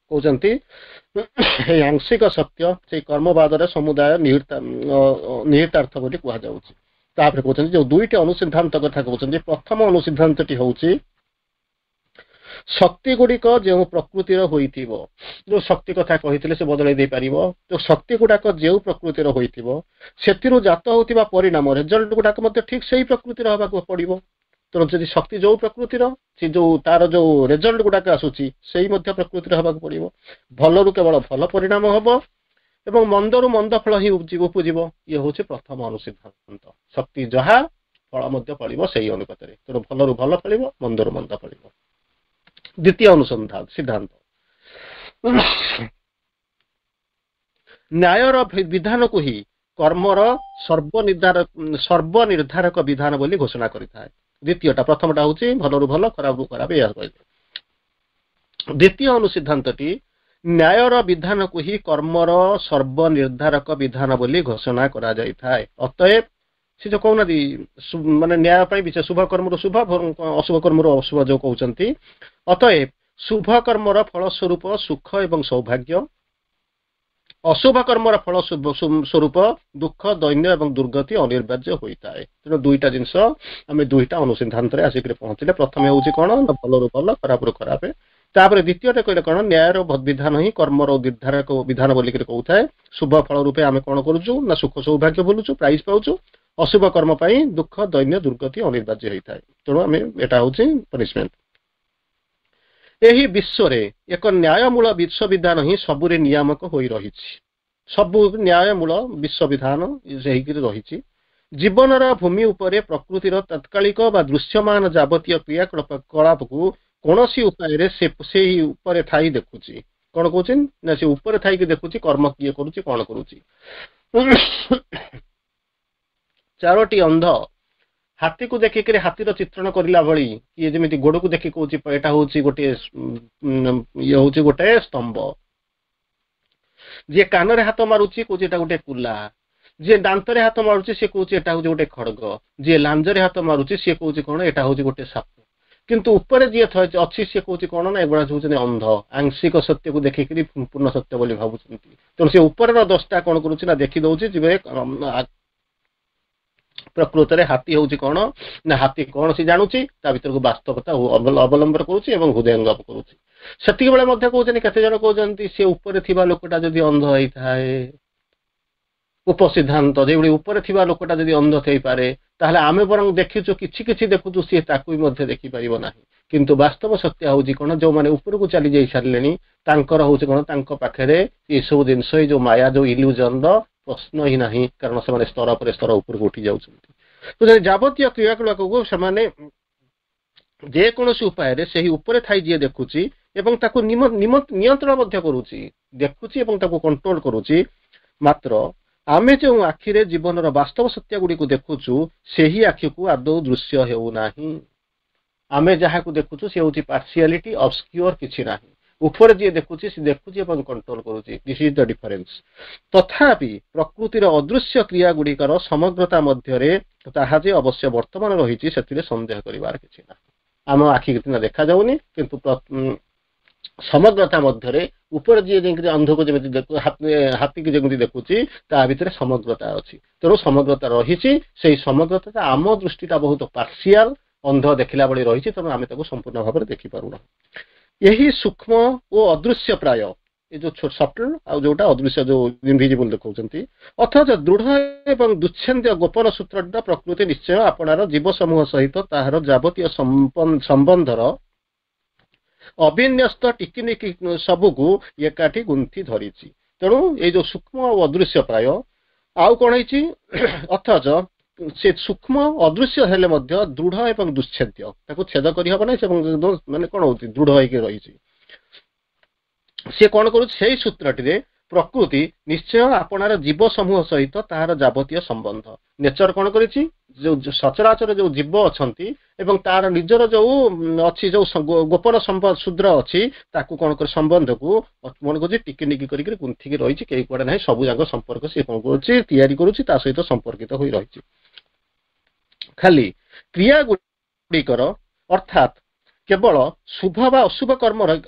କହୁଛନ୍ତି ଏଇ ଆଂଶିକ ସତ୍ୟ ସେଇ କର୍ମବାଦର ସମୁଦାୟ ନିହିତାର୍ଥ ବୋଲି କୁହାଯାଉଛି। ତାପରେ କହୁଛନ୍ତି ଯୋଉ ଦୁଇଟି ଅନୁସିଦ୍ଧାନ୍ତ କଥା କହୁଛନ୍ତି, ପ୍ରଥମ ଅନୁସିଦ୍ଧାନ୍ତଟି ହଉଛି ଶକ୍ତି ଗୁଡିକ ଯେଉଁ ପ୍ରକୃତିର ହୋଇଥିବ, ଯୋଉ ଶକ୍ତି କଥା କହିଥିଲେ ସେ ବଦଳେଇ ଦେଇପାରିବ, ଯୋଉ ଶକ୍ତି ଗୁଡାକ ଯେଉଁ ପ୍ରକୃତିର ହୋଇଥିବ ସେଥିରୁ ଜାତ ହଉଥିବା ପରିଣାମ ରେଜଲ୍ଟ ଗୁଡାକ ମଧ୍ୟ ଠିକ ସେଇ ପ୍ରକୃତିର ହବାକୁ ପଡିବ। ତେଣୁ ଯଦି ଶକ୍ତି ଯୋଉ ପ୍ରକୃତିର, ସେ ଯୋଉ ତାର ଯୋଉ ରେଜଲ୍ଟ ଗୁଡାକ ଆସୁଛି ସେଇ ମଧ୍ୟ ପ୍ରକୃତିର ହବାକୁ ପଡିବ। ଭଲରୁ କେବଳ ଭଲ ପରିଣାମ ହବ ଏବଂ ମନ୍ଦରୁ ମନ୍ଦ ଫଳ ହିଁ ଉପୁଜିବ। ଇଏ ହଉଛି ପ୍ରଥମ ଅନୁସିଦ୍ଧାନ୍ତ। ଶକ୍ତି ଯାହା, ଫଳ ମଧ୍ୟ ଫଳିବ ସେଇ ଅନୁପାତରେ। ତେଣୁ ଭଲରୁ ଭଲ ଫଳିବ, ମନ୍ଦରୁ ମନ୍ଦ ଫଳିବ। ଦ୍ୱିତୀୟ ଅନୁସନ୍ଧାନ ସିଦ୍ଧାନ୍ତ, ନ୍ୟାୟର ବିଧାନକୁ ହିଁ କର୍ମର ସର୍ବନିର୍ଦ୍ଧାରକ ସର୍ବନିର୍ଦ୍ଧାରକ ବିଧାନ ବୋଲି ଘୋଷଣା କରିଥାଏ। ଦ୍ୱିତୀୟଟା, ପ୍ରଥମଟା ହଉଛି ଭଲରୁ ଭଲ, ଖରାପରୁ ଖରାପ, ଏହା କହିଲେ। ଦ୍ୱିତୀୟ ଅନୁସିଦ୍ଧାନ୍ତଟି ନ୍ୟାୟର ବିଧାନକୁ ହିଁ କର୍ମର ସର୍ବନିର୍ଦ୍ଧାରକ ବିଧାନ ବୋଲି ଘୋଷଣା କରାଯାଇଥାଏ। ଅତଏବ ସେ ଯୋଉ କହୁନାହାନ୍ତି, ମାନେ ନ୍ୟାୟ ପାଇଁ ବିଚାର, ଶୁଭ କର୍ମରୁ ଶୁଭ, ଅଶୁଭ କର୍ମରୁ ଅଶୁଭ ଯୋଉ କହୁଛନ୍ତି। ଅତଏବ ଶୁଭ କର୍ମର ଫଳସ୍ୱରୂପ ସୁଖ ଏବଂ ସୌଭାଗ୍ୟ, ଅଶୁଭ କର୍ମର ଫଳ ସ୍ୱରୂପ ଦୁଃଖ, ଦୈନ୍ୟ ଏବଂ ଦୁର୍ଗତି ଅନିବାର୍ଯ୍ୟ ହୋଇଥାଏ। ତେଣୁ ଦୁଇଟା ଜିନିଷ ଆମେ ଦୁଇଟା ଅନୁସିଦ୍ଧାନ୍ତରେ ଆସିକରି ପହଞ୍ଚିଲେ। ପ୍ରଥମେ ହଉଛି କଣ ନା ଭଲରୁ ଭଲ, ଖରାପରୁ ଖରାପ। ତାପରେ ଦ୍ୱିତୀୟଟା କହିଲେ କଣ, ନ୍ୟାୟର ବିଧାନ ହିଁ କର୍ମର ନିର୍ଦ୍ଧାରକ ବିଧାନ ବୋଲିକରି କହୁଥାଏ। ଶୁଭ ଫଳ ରୂପେ ଆମେ କଣ କରୁଛୁ ନା ସୁଖ ସୌଭାଗ୍ୟ ଭୁଲୁଛୁ, ପ୍ରାଇଜ ପାଉଛୁ। ଅଶୁଭ କର୍ମ ପାଇଁ ଦୁଃଖ, ଦୈନ୍ୟ, ଦୁର୍ଗତି ଅନିବାର୍ଯ୍ୟ ହୋଇଥାଏ। ତେଣୁ ଆମେ ଏଟା ହଉଛି ପନିଶମେଣ୍ଟ। ଏହି ବିଶ୍ୱରେ ଏକ ନ୍ୟାୟମୂଳ ବିଶ୍ୱବିଧାନ ହିଁ ସବୁରେ ନିୟାମକ ହୋଇ ରହିଛି। ସବୁ ନ୍ୟାୟମୂଳ ବିଶ୍ୱବିଧାନ ହେଇକିରି ରହିଛି। ଜୀବନର ଭୂମି ଉପରେ ପ୍ରକୃତିର ତତ୍କାଳିକ ବା ଦୃଶ୍ୟମାନ ଯାବତୀୟ କ୍ରିୟାକଳାପକୁ କୌଣସି ଉପାୟରେ ସେ ସେଇ ଉପରେ ଥାଇ ଦେଖୁଛି। କଣ କହୁଛି ନା ସେ ଉପରେ ଥାଇକି ଦେଖୁଛି କର୍ମ କିଏ କରୁଛି, କଣ କରୁଛି। ଚାରୋଟି ଅନ୍ଧ ହାତୀକୁ ଦେଖିକିରି ହାତୀର ଚିତ୍ରଣ କରିଲା ଭଳି କିଏ ଯେମିତି ଗୋଡକୁ ଦେଖି କହୁଛି ଏଇଟା ହଉଛି ଗୋଟିଏ ଇଏ ହଉଛି ଗୋଟେ ସ୍ତମ୍ଭ। ଯିଏ କାନରେ ହାତ ମାରୁଛି କହୁଛି ଏଇଟା ଗୋଟେ କୁଲା। ଯିଏ ଦାନ୍ତରେ ହାତ ମାରୁଛି ସିଏ କହୁଛି ଏଟା ହଉଛି ଗୋଟେ ଖଡଗ। ଯିଏ ଲାଞ୍ଜରେ ହାତ ମାରୁଛି ସିଏ କହୁଛି କଣ ଏଟା ହଉଛି ଗୋଟେ ସାପ। କିନ୍ତୁ ଉପରେ ଯିଏ ଅଛି ସିଏ କହୁଛି କଣ ନା ଏଗୁଡା ହଉଛନ୍ତି ଅନ୍ଧ, ଆଂଶିକ ସତ୍ୟକୁ ଦେଖିକିରି ପୂର୍ଣ୍ଣ ସତ୍ୟ ବୋଲି ଭାବୁଛନ୍ତି। ତେଣୁ ସେ ଉପରର ଦଶଟା କଣ କରୁଛି ନା ଦେଖି ଦଉଛି ଯିବେ ପ୍ରକୃତରେ ହାତୀ ହଉଛି କଣ ନା ହାତୀ କଣ ସେ ଜାଣୁଛି, ତା ଭିତରକୁ ବାସ୍ତବତା ଅବଲମ୍ବନ କରୁଛି ଏବଂ ହୃଦୟଙ୍ଗମ କରୁଛି। ସେତିକି ବେଳେ ମଧ୍ୟ କହୁଛନ୍ତି, କେତେ ଜଣ କହୁଛନ୍ତି ସେ ଉପରେ ଥିବା ଲୋକଟା ଯଦି ଅନ୍ଧ ହେଇଥାଏ, ଉପସିଦ୍ଧାନ୍ତ ଯେଭଳି ଉପରେ ଥିବା ଲୋକଟା ଯଦି ଅନ୍ଧ ହେଇପାରେ, ତାହେଲେ ଆମେ ବରଂ ଦେଖିଛୁ କିଛି କିଛି ଦେଖୁଛୁ, ସିଏ ତାକୁ ବି ମଧ୍ୟ ଦେଖିପାରିବ ନାହିଁ। କିନ୍ତୁ ବାସ୍ତବ ସତ୍ୟ ହଉଛି କଣ, ଯୋଉମାନେ ଉପରକୁ ଚାଲି ଯାଇ ସାରିଲେଣି ତାଙ୍କର ହଉଛି କଣ, ତାଙ୍କ ପାଖରେ ଏସବୁ ଜିନିଷ, ଏଇ ଯୋଉ ମାୟା, ଯୋଉ ଇଲ୍ୟୁଜନର ପ୍ରଶ୍ନ ହିଁ ନାହିଁ, କାରଣ ସେମାନେ ସ୍ତର ପରେ ସ୍ତର ଉପରକୁ ଉଠି ଯାଉଛନ୍ତି। ଯାବତୀୟ କ୍ରିୟାକଳାପକୁ ସେମାନେ ଯେକୌଣସି ଉପାୟରେ ସେହି ଉପରେ ଥାଇ ଯିଏ ଦେଖୁଛି ଏବଂ ତାକୁ ନିୟନ୍ତ୍ରଣ ମଧ୍ୟ କରୁଛି, ଦେଖୁଛି ଏବଂ ତାକୁ କଣ୍ଟ୍ରୋଲ କରୁଛି। ମାତ୍ର ଆମେ ଯେଉଁ ଆଖିରେ ଜୀବନର ବାସ୍ତବ ସତ୍ୟ ଗୁଡ଼ିକୁ ଦେଖୁଛୁ ସେହି ଆଖିକୁ ଆଦୌ ଦୃଶ୍ୟ ହେଉନାହିଁ। ଆମେ ଯାହାକୁ ଦେଖୁଛୁ ସେ ହଉଛି ପାର୍ସିଆଲିଟି, ଅବସ୍କ୍ୟୁର, କିଛି ନାହିଁ। ଉପରେ ଯିଏ ଦେଖୁଛି ସେ ଦେଖୁଛି ଏବଂ କଣ୍ଟ୍ରୋଲ କରୁଛି। This is the difference. ତଥାପି ପ୍ରକୃତିର ଅଦୃଶ୍ୟ କ୍ରିୟା ଗୁଡ଼ିକର ସମଗ୍ରତା ମଧ୍ୟରେ ତାହା ଯେ ଅବଶ୍ୟ ବର୍ତ୍ତମାନ ରହିଛି ସେଥିରେ ସନ୍ଦେହ କରିବାର କିଛି ନାହିଁ। ଆମ ଆଖିକି ସିନା ଦେଖାଯାଉନି, କିନ୍ତୁ ସମଗ୍ରତା ମଧ୍ୟରେ ଉପରେ ଯିଏ ଯେମିତି ଅନ୍ଧକୁ ଯେମିତି ହାତୀକି ଯେମିତି ଦେଖୁଛି ତା ଭିତରେ ସମଗ୍ରତା ଅଛି। ତେଣୁ ସମଗ୍ରତା ରହିଛି, ସେଇ ସମଗ୍ରତାଟା ଆମ ଦୃଷ୍ଟିଟା ବହୁତ ପାର୍ସିଆଲ, ଅନ୍ଧ ଦେଖିଲା ଭଳି ରହିଛି, ତେଣୁ ଆମେ ତାକୁ ସମ୍ପୂର୍ଣ୍ଣ ଭାବରେ ଦେଖିପାରୁନାହୁଁ। ଏହି ସୂକ୍ଷ୍ମ ଓ ଅଦୃଶ୍ୟ ପ୍ରାୟ, ଏ ଯୋଉ ସଟଲ ଆଉ ଯୋଉଟା ଅଦୃଶ୍ୟ ଯୋଉ ଇନଭିଜିବଲ ଦେଖାଉଛନ୍ତି, ଅଥଚ ଦୃଢ ଏବଂ ଦୁଚ୍ଛେଦ୍ୟ ଗୋପନ ସୂତ୍ରଟା ପ୍ରକୃତି ନିଶ୍ଚୟ ଆପଣାର ଜୀବ ସମୂହ ସହିତ ତାହାର ଯାବତୀୟ ସମ୍ବନ୍ଧର ଅବିନ୍ୟସ୍ତ ଟିକିନିକି ସବୁକୁ ଏକାଠି ଗୁନ୍ଥି ଧରିଛି। ତେଣୁ ଏଇ ଯୋଉ ସୂକ୍ଷ୍ମ ଆଉ ଅଦୃଶ୍ୟ ପ୍ରାୟ, ଆଉ କଣ ହେଇଛି, ଅଥଚ ସେ ସୂକ୍ଷ୍ମ ଅଦୃଶ୍ୟ ହେଲେ ମଧ୍ୟ ଦୃଢ ଏବଂ ଦୁଶ୍ଛେଦ୍ୟ, ତାକୁ ଛେଦ କରିହବ ନାହିଁ, ମାନେ କଣ ହଉଛି ଦୃଢ ହେଇକି ରହିଛି। ସେ କଣ କରୁଛି, ସେଇ ସୂତ୍ରଟିରେ ପ୍ରକୃତି ନିଶ୍ଚୟ ଆପଣାର ଜୀବ ସମୂହ ସହିତ ତାହାର ଯାବତୀୟ ସମ୍ବନ୍ଧ। ନେଚର କଣ କରିଛି, ଯୋଉ ସଚରାଚର ଯୋଉ ଜୀବ ଅଛନ୍ତି ଏବଂ ତାର ନିଜର ଯୋଉ ଅଛି ଯୋଉ ଗୋପନ ଶୂଦ୍ର ଅଛି, ତାକୁ କଣ କରି ସମ୍ବନ୍ଧକୁ କଣ କରୁଛି ଟିକି ନିକି କରିକି ଗୁନ୍ଥିକି ରହିଛି, କେହି କୁଆଡେ ନାହିଁ, ସବୁ ଯାକ ସମ୍ପର୍କ ସିଏ କଣ କରୁଛି ତିଆରି କରୁଛି, ତା ସହିତ ସମ୍ପର୍କିତ ହୋଇ ରହିଛି। ଖାଲି କ୍ରିୟା ଗୁଡ଼ିକର ଅର୍ଥାତ୍ କେବଳ ଶୁଭ ବା ଅଶୁଭ କର୍ମ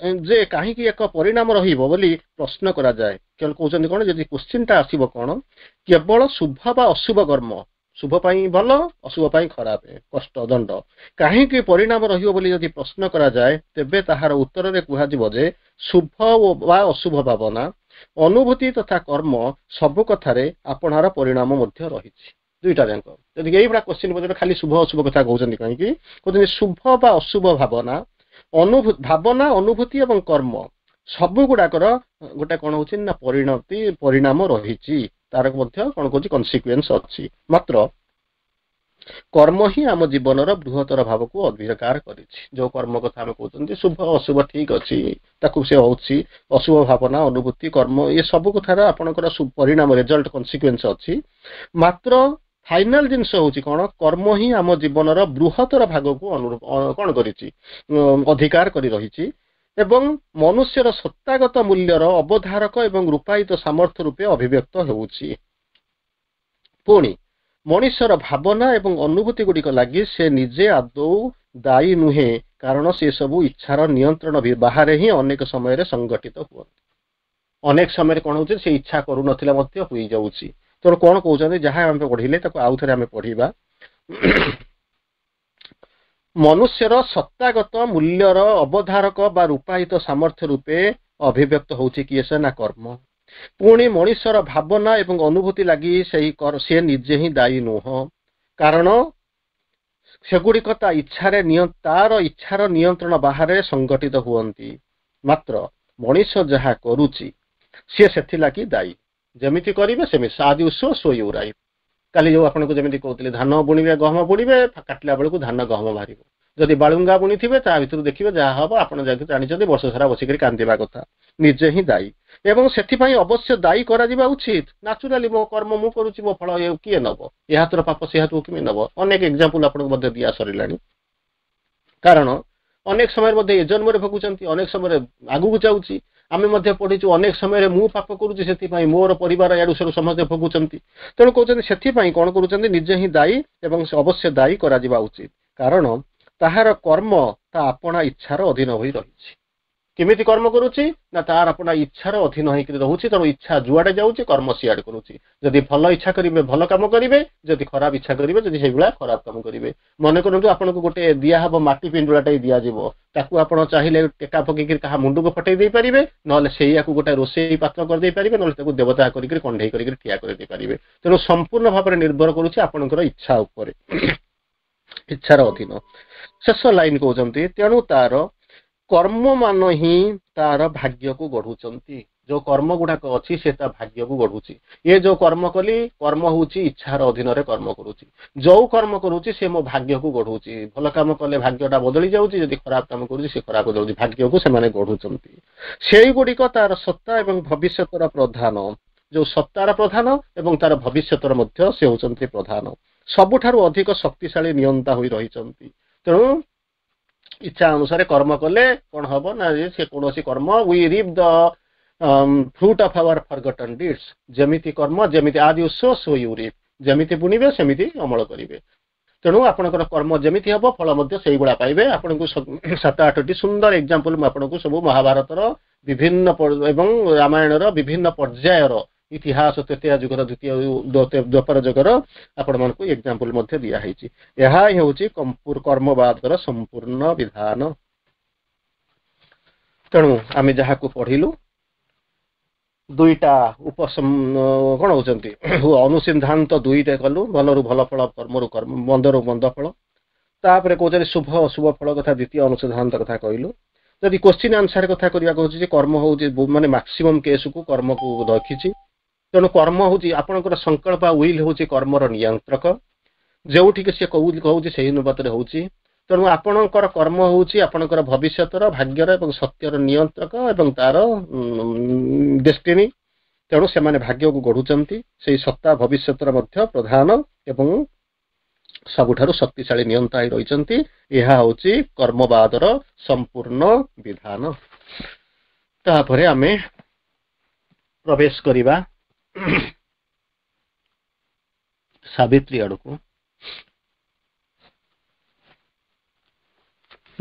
ଯେ କାହିଁକି ଏକ ପରିଣାମ ରହିବ ବୋଲି ପ୍ରଶ୍ନ କରାଯାଏ। କହୁଛନ୍ତି କଣ, ଯଦି କୋଶ୍ଚିନ୍ଟା ଆସିବ କଣ, କେବଳ ଶୁଭ ବା ଅଶୁଭ କର୍ମ, ଶୁଭ ପାଇଁ ଭଲ, ଅଶୁଭ ପାଇଁ ଖରାପ, କଷ୍ଟ, ଦଣ୍ଡ, କାହିଁକି ପରିଣାମ ରହିବ ବୋଲି ଯଦି ପ୍ରଶ୍ନ କରାଯାଏ, ତେବେ ତାହାର ଉତ୍ତରରେ କୁହାଯିବ ଯେ ଶୁଭ ବା ଅଶୁଭ ଭାବନା, ଅନୁଭୂତି ତଥା କର୍ମ ସବୁ କଥାରେ ଆପଣାର ପରିଣାମ ମଧ୍ୟ ରହିଛି। ଦୁଇଟା ଯାକ ଯଦି ଏଇଭଳିଆ କୋଶ୍ଚିନ୍ ପଚାରିଲେ ଖାଲି ଶୁଭ ଅଶୁଭ କଥା କହୁଛନ୍ତି କାହିଁକି, କହୁଛନ୍ତି ଶୁଭ ବା ଅଶୁଭ ଭାବନା, ଅନୁଭୂ ଭାବନା, ଅନୁଭୂତି ଏବଂ କର୍ମ ସବୁ ଗୁଡାକର ଗୋଟେ କଣ ହଉଛି ନା ପରିଣତି, ପରିଣାମ ରହିଛି, ତାର ମଧ୍ୟ କଣ କହୁଛି କନସିକ୍ୱେନ୍ସ ଅଛି। ମାତ୍ର କର୍ମ ହିଁ ଆମ ଜୀବନର ବୃହତ୍ତର ଭାବକୁ ଅଧିକାର କରିଛି। ଯୋଉ କର୍ମ କଥା ଆମେ କହୁଛନ୍ତି, ଶୁଭ ଅଶୁଭ ଠିକ ଅଛି, ତାକୁ ସେ ହଉଛି ଅଶୁଭ ଭାବନା, ଅନୁଭୂତି, କର୍ମ, ଏ ସବୁ କଥାର ଆପଣଙ୍କର ପରିଣାମ, ରେଜଲ୍ଟ, କନସିକ୍ୱେନ୍ସ ଅଛି। ମାତ୍ର ଫାଇନାଲ ଜିନିଷ ହଉଛି କଣ? କର୍ମ ହିଁ ଆମ ଜୀବନର ବୃହତ୍ତର ଭାଗକୁ ଅନୁରୂପ କଣ କରିଛି? ଅଧିକାର କରି ରହିଛି ଏବଂ ମନୁଷ୍ୟର ସତ୍ତାଗତ ମୂଲ୍ୟର ଅବଧାରକ ଏବଂ ରୂପାୟିତ ସାମର୍ଥ୍ୟ ରୂପେ ଅଭିବ୍ୟକ୍ତ ହେଉଛି। ପୁଣି ମଣିଷର ଭାବନା ଏବଂ ଅନୁଭୂତି ଗୁଡ଼ିକ ଲାଗି ସେ ନିଜେ ଆଦୌ ଦାୟୀ ନୁହେଁ, କାରଣ ସେ ସବୁ ଇଚ୍ଛାର ନିୟନ୍ତ୍ରଣ ବାହାରେ ହିଁ ଅନେକ ସମୟରେ ସଂଗଠିତ ହୁଅନ୍ତି। ଅନେକ ସମୟରେ କଣ ହଉଛି? ସେ ଇଚ୍ଛା କରୁନଥିଲେ ମଧ୍ୟ ହୋଇଯାଉଛି। ତେଣୁ କଣ କହୁଛନ୍ତି, ଯାହା ଆମେ ପଢିଲେ ତାକୁ ଆଉ ଥରେ ଆମେ ପଢିବା। ମନୁଷ୍ୟର ସତ୍ତାଗତ ମୂଲ୍ୟର ଅବଧାରକ ବା ରୂପାୟିତ ସାମର୍ଥ୍ୟ ରୂପେ ଅଭିବ୍ୟକ୍ତ ହଉଛି କିଏ ସେ? ନା କର୍ମ। ପୁଣି ମଣିଷର ଭାବନା ଏବଂ ଅନୁଭୂତି ଲାଗି ସେଇ ସେ ନିଜେ ହିଁ ଦାୟୀ ନୁହଁ, କାରଣ ସେଗୁଡ଼ିକ ତା ଇଚ୍ଛାରେ ତାର ଇଚ୍ଛାର ନିୟନ୍ତ୍ରଣ ବାହାରେ ସଂଗଠିତ ହୁଅନ୍ତି। ମାତ୍ର ମଣିଷ ଯାହା କରୁଛି, ସିଏ ସେଥିଲାଗି ଦାୟୀ। ଯେମିତି କରିବେ ସେମିତି, "As you sow, so you reap." କାଲି ଯୋଉ ଆପଣଙ୍କୁ ଯେମିତି କହୁଥିଲି, ଧାନ ବୁଣିବେ, ଗହମ ବୁଣିବେ, କାଟିଲା ବେଳକୁ ଧାନ ଗହମ ବାହାରିବ। ଯଦି ବାଳୁଙ୍ଗା ବୁଣିଥିବେ, ତା ଭିତରୁ ଦେଖିବେ ଯାହା ହବ। ଆପଣ ଯାଇକି ଜାଣିଛନ୍ତି, ବର୍ଷ ସାରା ବସିକରି କାନ୍ଦିବା କଥା। ନିଜେ ହିଁ ଦାୟୀ ଏବଂ ସେଥିପାଇଁ ଅବଶ୍ୟ ଦାୟୀ କରାଯିବା ଉଚିତ। ନାଚୁରାଲି ମୋ କର୍ମ ମୁଁ କରୁଛି, ମୋ ଫଳ କିଏ ନବ? ଏ ହାତର ପାପ ସେ ହାତକୁ କେମିତି ନବ? ଅନେକ ଏକ୍ଜାମ୍ପଲ ଆପଣଙ୍କୁ ମଧ୍ୟ ଦିଆ ସରିଲାଣି। କାରଣ ଅନେକ ସମୟରେ ମଧ୍ୟ ଏ ଜନ୍ମରେ ଭୋଗୁଛନ୍ତି, ଅନେକ ସମୟରେ ଆଗକୁ ଯାଉଛି। ଆମେ ମଧ୍ୟ ପଢିଛୁ, ଅନେକ ସମୟରେ ମୁଁ ପାପ କରୁଛି, ସେଥିପାଇଁ ମୋର ପରିବାର ଇଆଡୁ ସିଆଡୁ ସମସ୍ତେ ଭୋଗୁଛନ୍ତି। ତେଣୁ କହୁଛନ୍ତି, ସେଥିପାଇଁ କଣ କରୁଛନ୍ତି? ନିଜେ ହିଁ ଦାୟୀ ଏବଂ ଅବଶ୍ୟ ଦାୟୀ କରାଯିବା ଉଚିତ, କାରଣ ତାହାର କର୍ମ ତା ଆପଣା ଇଚ୍ଛାର ଅଧୀନ ହୋଇ ରହିଛି। କେମିତି କର୍ମ କରୁଛି? ନା ତାର ଆପଣା ଇଚ୍ଛାର ଅଧୀନ ହେଇକି ରହୁଛି। ତେଣୁ ଇଚ୍ଛା ଯୁଆଡେ ଯାଉଛି, କର୍ମ ସିଆଡେ କରୁଛି। ଯଦି ଭଲ ଇଚ୍ଛା କରିବେ, ଭଲ କାମ କରିବେ। ଯଦି ଖରାପ ଇଚ୍ଛା କରିବେ, ଯଦି ସେଇଭଳିଆ ଖରାପ କାମ କରିବେ। ମନେ କରନ୍ତୁ, ଆପଣଙ୍କୁ ଗୋଟେ ଦିଆହବ, ମାଟି ପିଣ୍ଡୁଳାଟାଇ ଦିଆଯିବ। ତାକୁ ଆପଣ ଚାହିଁଲେ ଟେକା ପକେଇକି କାହା ମୁଣ୍ଡକୁ ଫଟେଇ ଦେଇପାରିବେ, ନହେଲେ ସେଇଆକୁ ଗୋଟେ ରୋଷେଇ ପାତ୍ର କରିଦେଇ ପାରିବେ, ନହେଲେ ତାକୁ ଦେବତା କରିକି କଣ୍ଢେଇ କରିକି ଠିଆ କରିଦେଇ ପାରିବେ। ତେଣୁ ସମ୍ପୂର୍ଣ୍ଣ ଭାବରେ ନିର୍ଭର କରୁଛି ଆପଣଙ୍କର ଇଚ୍ଛା ଉପରେ, ଇଚ୍ଛାର ଅଧୀନ। ଶେଷ ଲାଇନ କହୁଛନ୍ତି, ତେଣୁ ତାର କର୍ମମାନ ହିଁ ତାର ଭାଗ୍ୟକୁ ଗଢୁଛନ୍ତି। ଯୋଉ କର୍ମ ଗୁଡାକ ଅଛି, ସେ ତା ଭାଗ୍ୟକୁ ଗଢୁଛି। ଏ ଯୋଉ କର୍ମ କଲି, କର୍ମ ହଉଛି ଇଚ୍ଛାର ଅଧୀନରେ କର୍ମ କରୁଛି। ଯୋଉ କର୍ମ କରୁଛି, ସେ ମୋ ଭାଗ୍ୟକୁ ଗଢୁଛି। ଭଲ କାମ କଲେ ଭାଗ୍ୟଟା ବଦଳି ଯାଉଛି, ଯଦି ଖରାପ କାମ କରୁଛି, ସେ ଖରାପ ଯାଉଛି। ଭାଗ୍ୟକୁ ସେମାନେ ଗଢୁଛନ୍ତି। ସେଇଗୁଡିକ ତାର ସତ୍ତା ଏବଂ ଭବିଷ୍ୟତର ପ୍ରଧାନ। ଯୋଉ ସତ୍ତାର ପ୍ରଧାନ ଏବଂ ତାର ଭବିଷ୍ୟତର ମଧ୍ୟ ସେ ହଉଛନ୍ତି ପ୍ରଧାନ, ସବୁଠାରୁ ଅଧିକ ଶକ୍ତିଶାଳୀ ନିୟନ୍ତା ହୋଇ ରହିଛନ୍ତି। ତେଣୁ ଇଚ୍ଛା ଅନୁସାରେ କର୍ମ କଲେ କଣ ହବ? ନା ସେ କୌଣସି କର୍ମ, we reap the fruit of our forgotten deeds. ଯେମିତି କର୍ମ ଯେମିତି, "As you sow, so you reap." ଯେମିତି ବୁଣିବେ, ସେମିତି ଅମଳ କରିବେ। ତେଣୁ ଆପଣଙ୍କର କର୍ମ ଯେମିତି ହବ, ଫଳ ମଧ୍ୟ ସେଇଭଳିଆ ପାଇବେ। ଆପଣଙ୍କୁ ସାତ ଆଠଟି ସୁନ୍ଦର ଏକ୍ଜାମ୍ପଲ ମୁଁ ଆପଣଙ୍କୁ ସବୁ ମହାଭାରତର ବିଭିନ୍ନ ଏବଂ ରାମାୟଣର ବିଭିନ୍ନ ପର୍ଯ୍ୟାୟର ଇତିହାସ, ତ୍ରେତୟା ଯୁଗର, ଦ୍ୱିତୀୟ ଦ୍ୱାପର ଯୁଗର ଆପଣମାନଙ୍କୁ ଏକ୍ଜାମ୍ପଲ ମଧ୍ୟ ଦିଆହେଇଛି। ଏହା ହିଁ ହେଉଛି କର୍ମବାଦର ସମ୍ପୂର୍ଣ୍ଣ ବିଧାନ। ତେଣୁ ଆମେ ଯାହାକୁ ପଢିଲୁ, ଦୁଇଟା ଉପ କଣ ହଉଛନ୍ତି, ଅନୁସିଦ୍ଧାନ୍ତ ଦୁଇଟା କଲୁ। ଭଲରୁ ଭଲ ଫଳ, କର୍ମରୁ କର୍ମ, ମନ୍ଦରୁ ମନ୍ଦ ଫଳ। ତାପରେ କହୁଛନ୍ତି ଶୁଭ ଅଶୁଭ ଫଳ କଥା, ଦ୍ୱିତୀୟ ଅନୁସିଦ୍ଧାନ୍ତ କଥା କହିଲୁ। ଯଦି କୋଶ୍ଚିନ୍ ଆନ୍ସର କଥା କରିବାକୁ ହଉଛି ଯେ କର୍ମ ହଉଛି ମାନେ ମାକ୍ସିମମ୍ କେସକୁ କର୍ମକୁ ରଖିଛି। ତେଣୁ କର୍ମ ହଉଛି ଆପଣଙ୍କର ସଂକଳ୍ପ, will ହଉଛି କର୍ମର ନିୟନ୍ତ୍ରକ। ଯେଉଁଠିକି ସେ କହୁଛି, ସେଇ ଅନୁପାତରେ ହଉଛି। ତେଣୁ ଆପଣଙ୍କର କର୍ମ ହଉଛି ଆପଣଙ୍କର ଭବିଷ୍ୟତର ଭାଗ୍ୟର ଏବଂ ସତ୍ୟର ନିୟନ୍ତ୍ରକ ଏବଂ ତାର ଡେଷ୍ଟିନି। ତେଣୁ ସେମାନେ ଭାଗ୍ୟକୁ ଗଢୁଛନ୍ତି। ସେଇ ସତ୍ତା ଭବିଷ୍ୟତର ମଧ୍ୟ ପ୍ରଧାନ ଏବଂ ସବୁଠାରୁ ଶକ୍ତିଶାଳୀ ନିୟନ୍ତା ହେଇ ରହିଛନ୍ତି। ଏହା ହଉଛି କର୍ମବାଦର ସମ୍ପୂର୍ଣ୍ଣ ବିଧାନ। ତାପରେ ଆମେ ପ୍ରବେଶ କରିବା ସାବିତ୍ରୀ ଆଡକୁ।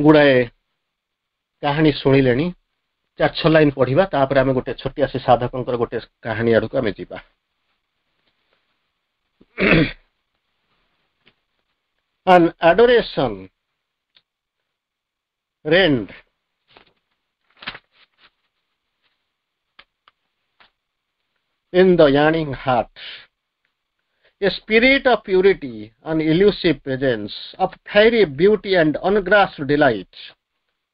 ଗୁଡାଏ କାହାଣୀ ଶୁଣିଲେଣି, ଚାରି ଛଅ ଲାଇନ ପଢିବା। ତାପରେ ଆମେ ଗୋଟେ ଛୋଟିଆ ସେ ସାଧକଙ୍କର ଗୋଟେ କାହାଣୀ ଆଡକୁ ଆମେ ଯିବା। An adoration rend in the yearning heart, a spirit of purity and elusive presence, of fiery beauty and ungrasped delight.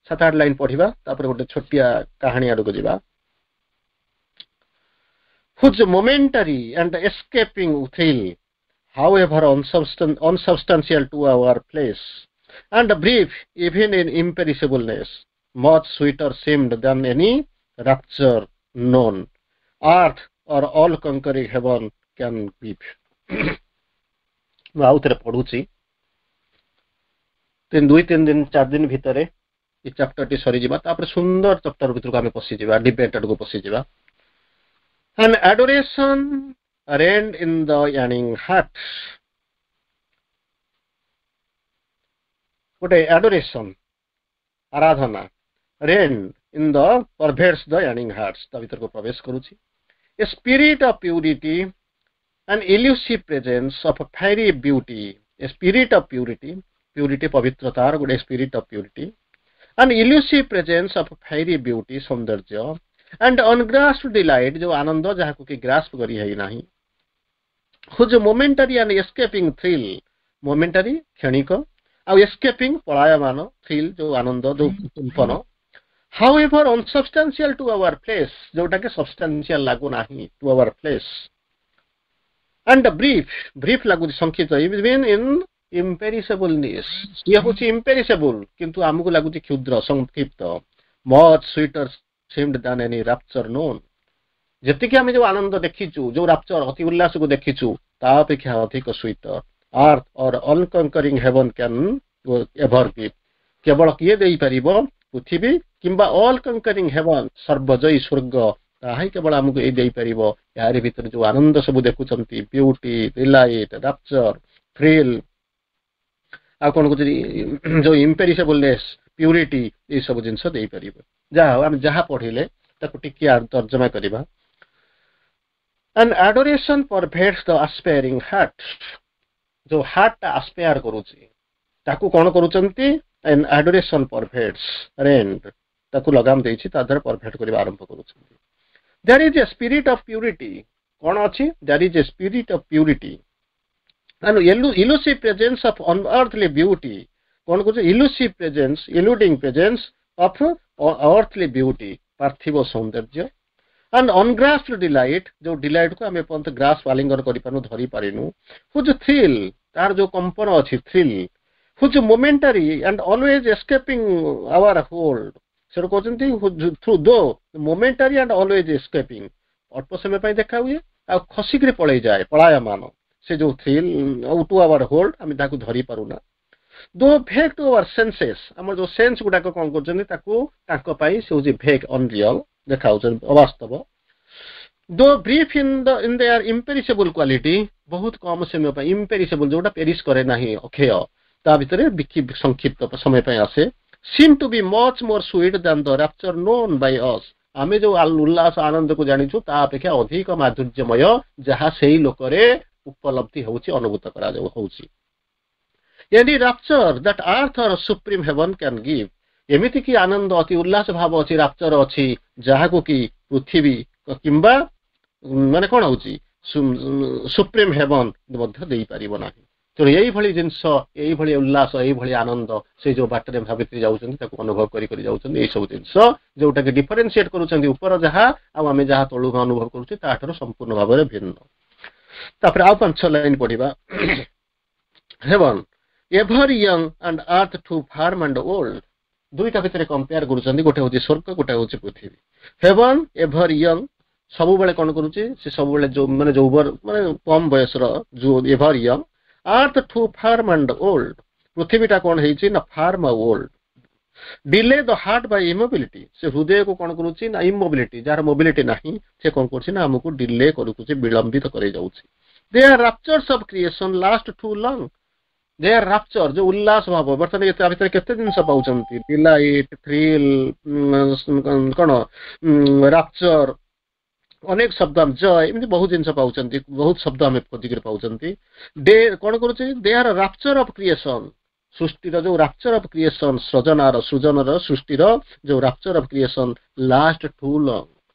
ସାତ ଆଠ ଲାଇନ ପଢିବା, ତାପରେ ଗୋଟେ ଛୋଟିଆ କାହାଣୀ ଆଡକୁ ଯିବା। Whose momentary and escaping thrill however unsubstantial to our flesh, and brief even in imperishableness, much sweeter seemed than any rapture known earth or all conquering heaven can give. ମୁଁ ଆଉ ଥରେ ପଢୁଛି। ତିନି ଦୁଇ ତିନି ଦିନ, ଚାରି ଦିନ ଭିତରେ ଏ ଚାପ୍ଟରଟି ସରିଯିବା। ତାପରେ ସୁନ୍ଦର ଚାପ୍ଟର ଭିତରକୁ ଆମେ ପଶିଯିବା, ଡିବେଟ୍ ଆଡକୁ ପଶିଯିବା। An adoration rend in the yearning heart, ଗୋଟେ ଆଡୋରେସନ, ଆରାଧନା, rend in the pervades the yearning hearts, ତା ଭିତରକୁ ପ୍ରବେଶ କରୁଛି। A spirit of purity and elusive presence of a fiery beauty, a spirit of purity, purity ପବିତ୍ରତାର ଗୋଟେ spirit of purity and elusive presence of fiery beauty, ସୌନ୍ଦର୍ଯ୍ୟ, and ungrasped delight, ଯୋଉ ଆନନ୍ଦ ଯାହାକୁ କି ଗ୍ରାସ୍ପ କରି ହେଇନାହିଁ, whose momentary and escaping thrill, momentary କ୍ଷଣିକ ଆଉ escaping ପଳାୟମାନ, thrill ଯୋଉ ଆନନ୍ଦ, ଯୋଉ କମ୍ପନ, however unsubstantial to our flesh, ଯୋଉଟା କି substantial ଲାଗୁନାହିଁ to our flesh, and brief, brief ଲାଗୁଛି, ସଂକ୍ଷିପ୍ତ, even in imperishableness, ସିଏ ହଉଛି imperishable କିନ୍ତୁ ଆମକୁ ଲାଗୁଛି କ୍ଷୁଦ୍ର, ସଂକ୍ଷିପ୍ତ, much sweeter seemed than any rapture known, ଯେତିକି ଆମେ ଯୋଉ ଆନନ୍ଦ ଦେଖିଛୁ, ଯୋଉ ରାପଚର ଅତି ଉଲ୍ଲାସକୁ ଦେଖିଛୁ, ତା ଅପେକ୍ଷା ଅଧିକ sweeter earth or all conquering heaven can ever give, କେବଳ କିଏ ଦେଇପାରିବ? ପୃଥିବୀ କିମ୍ବା ଅଲ୍ କଙ୍କରିଂ ହେଭନ୍, ସର୍ବଜୟୀ ସ୍ୱର୍ଗ, ତାହା ହିଁ କେବଳ ଆମକୁ ଏଇ ଦେଇପାରିବ। ଏହାରି ଭିତରେ ଯୋଉ ଆନନ୍ଦ ସବୁ ଦେଖୁଛନ୍ତି, ବ୍ୟୁଟି, ଡିଲାଇଟ୍, ରାପଚର, ଥ୍ରିଲ୍, ଆଉ କଣ କହୁଛନ୍ତି, ଯୋଉ ଇମ୍ପେରିସେବଲନେସ୍, ପ୍ୟୁରିଟି, ଏଇ ସବୁ ଜିନିଷ ଦେଇପାରିବ। ଯାହା ହଉ, ଆମେ ଯାହା ପଢିଲେ ତାକୁ ଟିକେ ତର୍ଜମା କରିବା। An adoration pervades the aspiring heart, ଯୋଉ ହାର୍ଟଟା ଆସ୍ପାୟାର କରୁଛି ତାକୁ କଣ କରୁଛନ୍ତି? An adoration pervades, rend, ତାକୁ ଲଗାମ ଦେଇଛି, ତା ଦ୍ୱାରା ପରଭେଡ କରିବା ଆରମ୍ଭ କରୁଛନ୍ତି। There is a spirit of purity, କଣ ଅଛି? There is a spirit of purity and elusive presence of unearthly beauty, କଣ କହୁଛି? Elusive presence, eluding presence of earthly beauty, ପାର୍ଥିବ ସୌନ୍ଦର୍ଯ୍ୟ, and ungrasped delight, ଯୋଉ delight କୁ ଆମେ ଏପର୍ଯ୍ୟନ୍ତ ଗ୍ରାସ୍ପ, ଆଲିଙ୍ଗନ କରିପାରୁନୁ, ଧରି ପାରିନୁ, whose thrill, ତାର ଯୋଉ କମ୍ପନ ଅଛି thrill, whose momentary and always escaping our hold, ସେଠୁ କହୁଛନ୍ତି through though momentary and always escaping, ଅଳ୍ପ ସମୟ ପାଇଁ ଦେଖା ହୁଏ ଆଉ ଖସିକିରି ପଳେଇ ଯାଏ, ପଳାୟମାନ, ସେ ଯୋଉ ଥ୍ରିଲ୍ ଆଉ ଟୁ ଆୱାର ହୋଲ୍ଡ, ଆମେ ତାକୁ ଧରି ପାରୁନା, though vague to our senses, ଆମର ଯୋଉ ସେନ୍ସ ଗୁଡାକ କଣ କରୁଛନ୍ତି ତାକୁ, ତାଙ୍କ ପାଇଁ ସେ ହଉଛି ଭେଗ୍, ଅନରିଅଲ ଦେଖାଉଛନ୍ତି, ଅବାସ୍ତବ, though brief in the in their imperishable quality, ବହୁତ କମ ସମୟ ପାଇଁ, ଇମ୍ପେରିସେବଲ ଯୋଉଟା ପେରିଶ କରେ ନାହିଁ, ଅକ୍ଷୟ, ତା ଭିତରେ ସଂକ୍ଷିପ୍ତ ସମୟ ପାଇଁ ଆସେ, seem to be much more sweet than the rapture known by us, ଆମେ ଯୋଉ ଉଲ୍ଲାସ ଆନନ୍ଦକୁ ଜାଣିଛୁ ତା ଅପେକ୍ଷା ଅଧିକ ମାଧୁର୍ଯ୍ୟମୟ ଯାହା ସେଇ ଲୋକରେ ଉପଲବ୍ଧି ହଉଛି, ଅନୁଭୂତ କରାଯାଉ ହଉଛି। Any rapture that earth or supreme heaven can give, ଏମିତି କି ଆନନ୍ଦ, ଅତି ଉଲ୍ଲାସ ଭାବ ଅଛି, ରାପଚର ଅଛି, ଯାହାକୁ କି ପୃଥିବୀ କିମ୍ବା ମାନେ କଣ ହଉଛି ସୁପ୍ରିମ ହେଭନ ମଧ୍ୟ ଦେଇପାରିବ ନାହିଁ। ତେଣୁ ଏଇଭଳି ଜିନିଷ, ଏଇଭଳି ଉଲ୍ଲାସ, ଏଇଭଳି ଆନନ୍ଦ ସେ ଯୋଉ ବାଟରେ ଭାବିତ୍ରୀ ଯାଉଛନ୍ତି ତାକୁ ଅନୁଭବ କରି କରି ଯାଉଛନ୍ତି। ଏଇ ସବୁ ଜିନିଷ ଯୋଉଟାକି ଡିଫରେନ୍ସିଏଟ କରୁଛନ୍ତି, ଉପର ଯାହା ଆଉ ଆମେ ଯାହା ତଳୁ ଅନୁଭବ କରୁଛେ ତାଠାରୁ ସମ୍ପୂର୍ଣ୍ଣ ଭାବରେ ଭିନ୍ନ। ତାପରେ ଆଉ ପାଞ୍ଚ ଲାଇନ ପଢିବା। Heaven ever young and earth too firm and old, ଦୁଇଟା ଭିତରେ କମ୍ପେୟାର କରୁଛନ୍ତି, ଗୋଟେ ହଉଛି ସ୍ୱର୍ଗ, ଗୋଟେ ହଉଛି ପୃଥିବୀ। ହେଭନ ଏଭର ୟଙ୍ଗ ସବୁବେଳେ କଣ କରୁଛି, ସେ ସବୁବେଳେ ଯୋଉ ମାନେ ଯୌବନ ମାନେ କମ ବୟସର, ଯୋଉ ever young, earth too firm and old, ପୃଥିବୀଟା କଣ ହେଇଛି ନା ଫାର୍ମ ଆଉ old, delay the heart by immobility, ସେ ହୃଦୟକୁ କଣ କରୁଛି ନା ଇମୋବିଲିଟି, ଯାହାର ମୋବିଲିଟି ନାହିଁ ସେ କଣ କରୁଛି ନା ଆମକୁ ଡିଲେ କରୁଛି, ବିଳମ୍ବିତ କରେଇ ଯାଉଛି। Their raptures of creation last too long, their rapture ଯୋଉ ଉଲ୍ଲାସ ଭାବ, ବର୍ତ୍ତମାନ ତା ଭିତରେ କେତେ ଜିନିଷ ପାଉଛନ୍ତି, ଡିଲାଇଟ୍, ଥ୍ରିଲ୍, କଣ ରାପଚର, ଅନେକ ଶବ୍ଦ, ଜୟ, ଏମିତି ବହୁତ ଜିନିଷ ପାଉଛନ୍ତି, ବହୁତ ଶବ୍ଦ ଆମେ ଖୋଜିକିରି ପାଉଛନ୍ତି। ଦେ କଣ କରୁଛି, they are rapture of creation, ସୃଷ୍ଟିର ଯୋଉ ରାପଚର ଅଫ କ୍ରିଏସନ, ସୃଜନାର, ସୃଜନର, ସୃଷ୍ଟିର ଯୋଉ rapture of creation last too long,